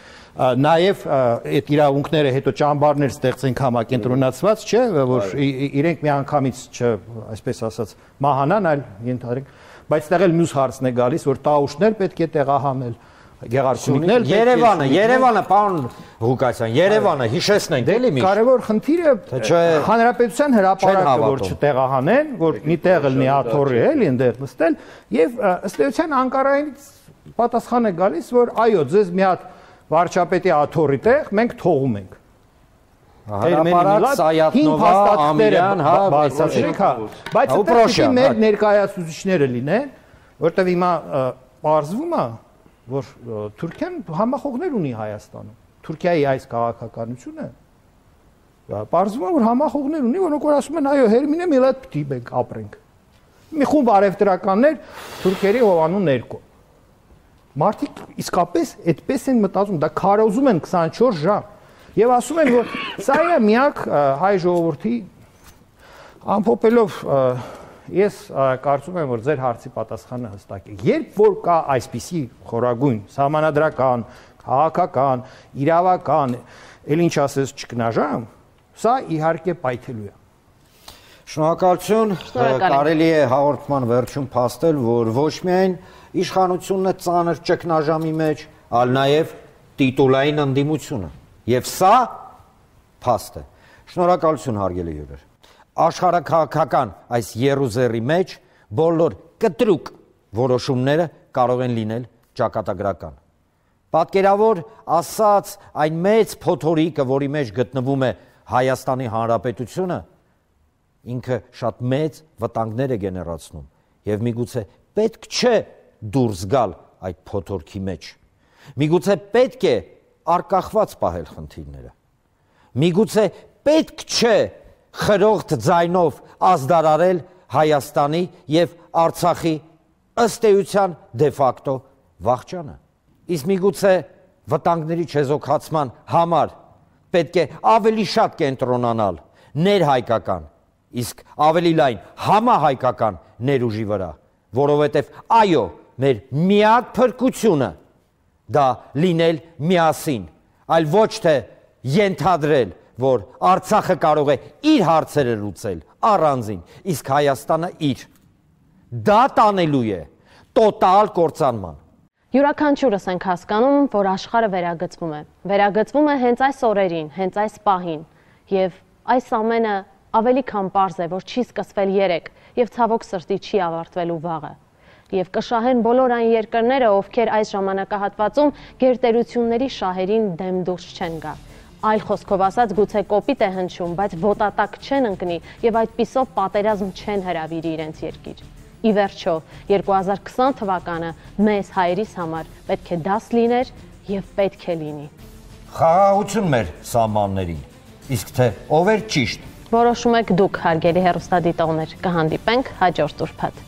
նաև այդ իրավունքները հետո ճամբարներ ստեղծենք համակենտրոնացված, չէ, որ իրենք մի անգամից չ, այսպես ասած, մահանան, այլ ենթադրենք, բայց տեղ էլ մյուս հարցն է գալիս, որ տաուշներ պետք է տեղահանել, Գեղարքունիքն էլ Երևանը, Երևանը, պարոն Ղուկասյան, Երևանը հիշեցնենք էլի միշտ։ Կարևոր խնդիրը հանրապետության հրապարակը որ չտեղահանեն, որ մի տեղ լինի աթոռի էլի այնտեղ նստել եւ ըստ էության Անկարայից պատասխան է գալիս, որ այո, ձեզ մի հատ վարչապետի աթոռի տեղ մենք թողում ենք։ Հրապարակ Սայաթնովա, Ամիրյան, հա, բացատրեք, հա, բայց այդպես մեր ներկայացուցիչները լինեն, որտեվ հիմա պարզվում է, որ Թուրքիան համախոհներ ունի Հայաստանում։ Թուրքիայի այս քաղաքականությունը պարզվում է, որ համախոհներ ունի, որոնք որ ասում են, այո, հերմինե մի լատ պիտի մենք ապրենք։ Մի խումբ արևտրականներ թուրքերի հովանու ներքո։ Մարդիկ իսկապես այդպես են մտածում, դա քարոզում են քսանչորս ժամ։ Եվ ասում են, որ սա է միակ հայ ժողովրդի ամփոփելով ես կարծում եմ, որ ձեր հարցի պատասխանը հստակ է։ Երբ որ կա այսպիսի խորագույն սահմանադրական, քաղաքական, իրավական, էլ ինչ ասես ճգնաժամ, սա իհարկե պայթելու է։ Շնորհակալություն, կարելի է հաղորդման վերջում փաստել, որ ոչ միայն իշխանությունն է ծանր ճգնաժամի մեջ, այլ նաև տիտուլային ընդդիմությունը։ Եվ սա փաստ է։ Շնորհակալություն հարգելի հյուրեր։ Աշխարհաքաղաքական այս երուզերի մեջ բոլոր կտրուկ որոշումները կարող են լինել ճակատագրական։ Պատկերավոր ասած այն մեծ փոթորիկը, որի մեջ գտնվում է Հայաստանի Հանրապետությունը, ինքը շատ մեծ վտանգներ է գեներացնում եւ միգուցե պետք չէ դուրս գալ այդ փոթորքի մեջ։ Միգուցե պետք է արկախված պահել խնդիրները։ Միգուցե պետք չէ խրողտ ձայնով ազդարարել Հայաստանի եւ Արցախի ըստ էության դե ֆակտո վախճանը։ Իսկ միգուցե վտանգների չեզոքացման համար պետք է ավելի շատ կենտրոնանալ ներհայկական, իսկ ավելի լայն համահայկական ներուժի վրա, որովհետև այո, մեր միակ փրկությունը դա լինել միասին, այլ ոչ թե ենթադրել, որ Արցախը կարող է իր հարցերը լուծել առանձին, իսկ Հայաստանը իր։ Դա տանելու է տոտալ կործանման։ Յուրաքանչյուրս ենք հասկանում, որ աշխարհը վերագծվում է։ Վերագծվում է հենց այս օրերին, հենց այս պահին, եւ այս ամենը ավելի քան պարզ է, որ չի սկսվել երեկ եւ ցավոք սրտի չի ավարտվելու վաղը։ Եվ կշահեն բոլոր այն երկրները, ովքեր այս ժամանակահատվածում գերտերությունների շահերին դեմ դուրս չեն գա։ Այլ խոսքով ասած, գուցե կոպիտ է հնչում, բայց ոտատակ չեն ընկնի եւ այդպիսով պատերազմ չեն հրավիրի իրենց երկիր։ Ի վերջո, երկու հազար քսան թվականը մեզ հայերիս համար պետք է դաս լիներ եւ պետք է լինի։ Խաղաղություն մեր սահմաններին, իսկ թե ով էր ճիշտ։ Որոշում եք դուք, հարգելի հեռուստադիտողներ, կհանդիպենք հաջորդ ուրբաթ։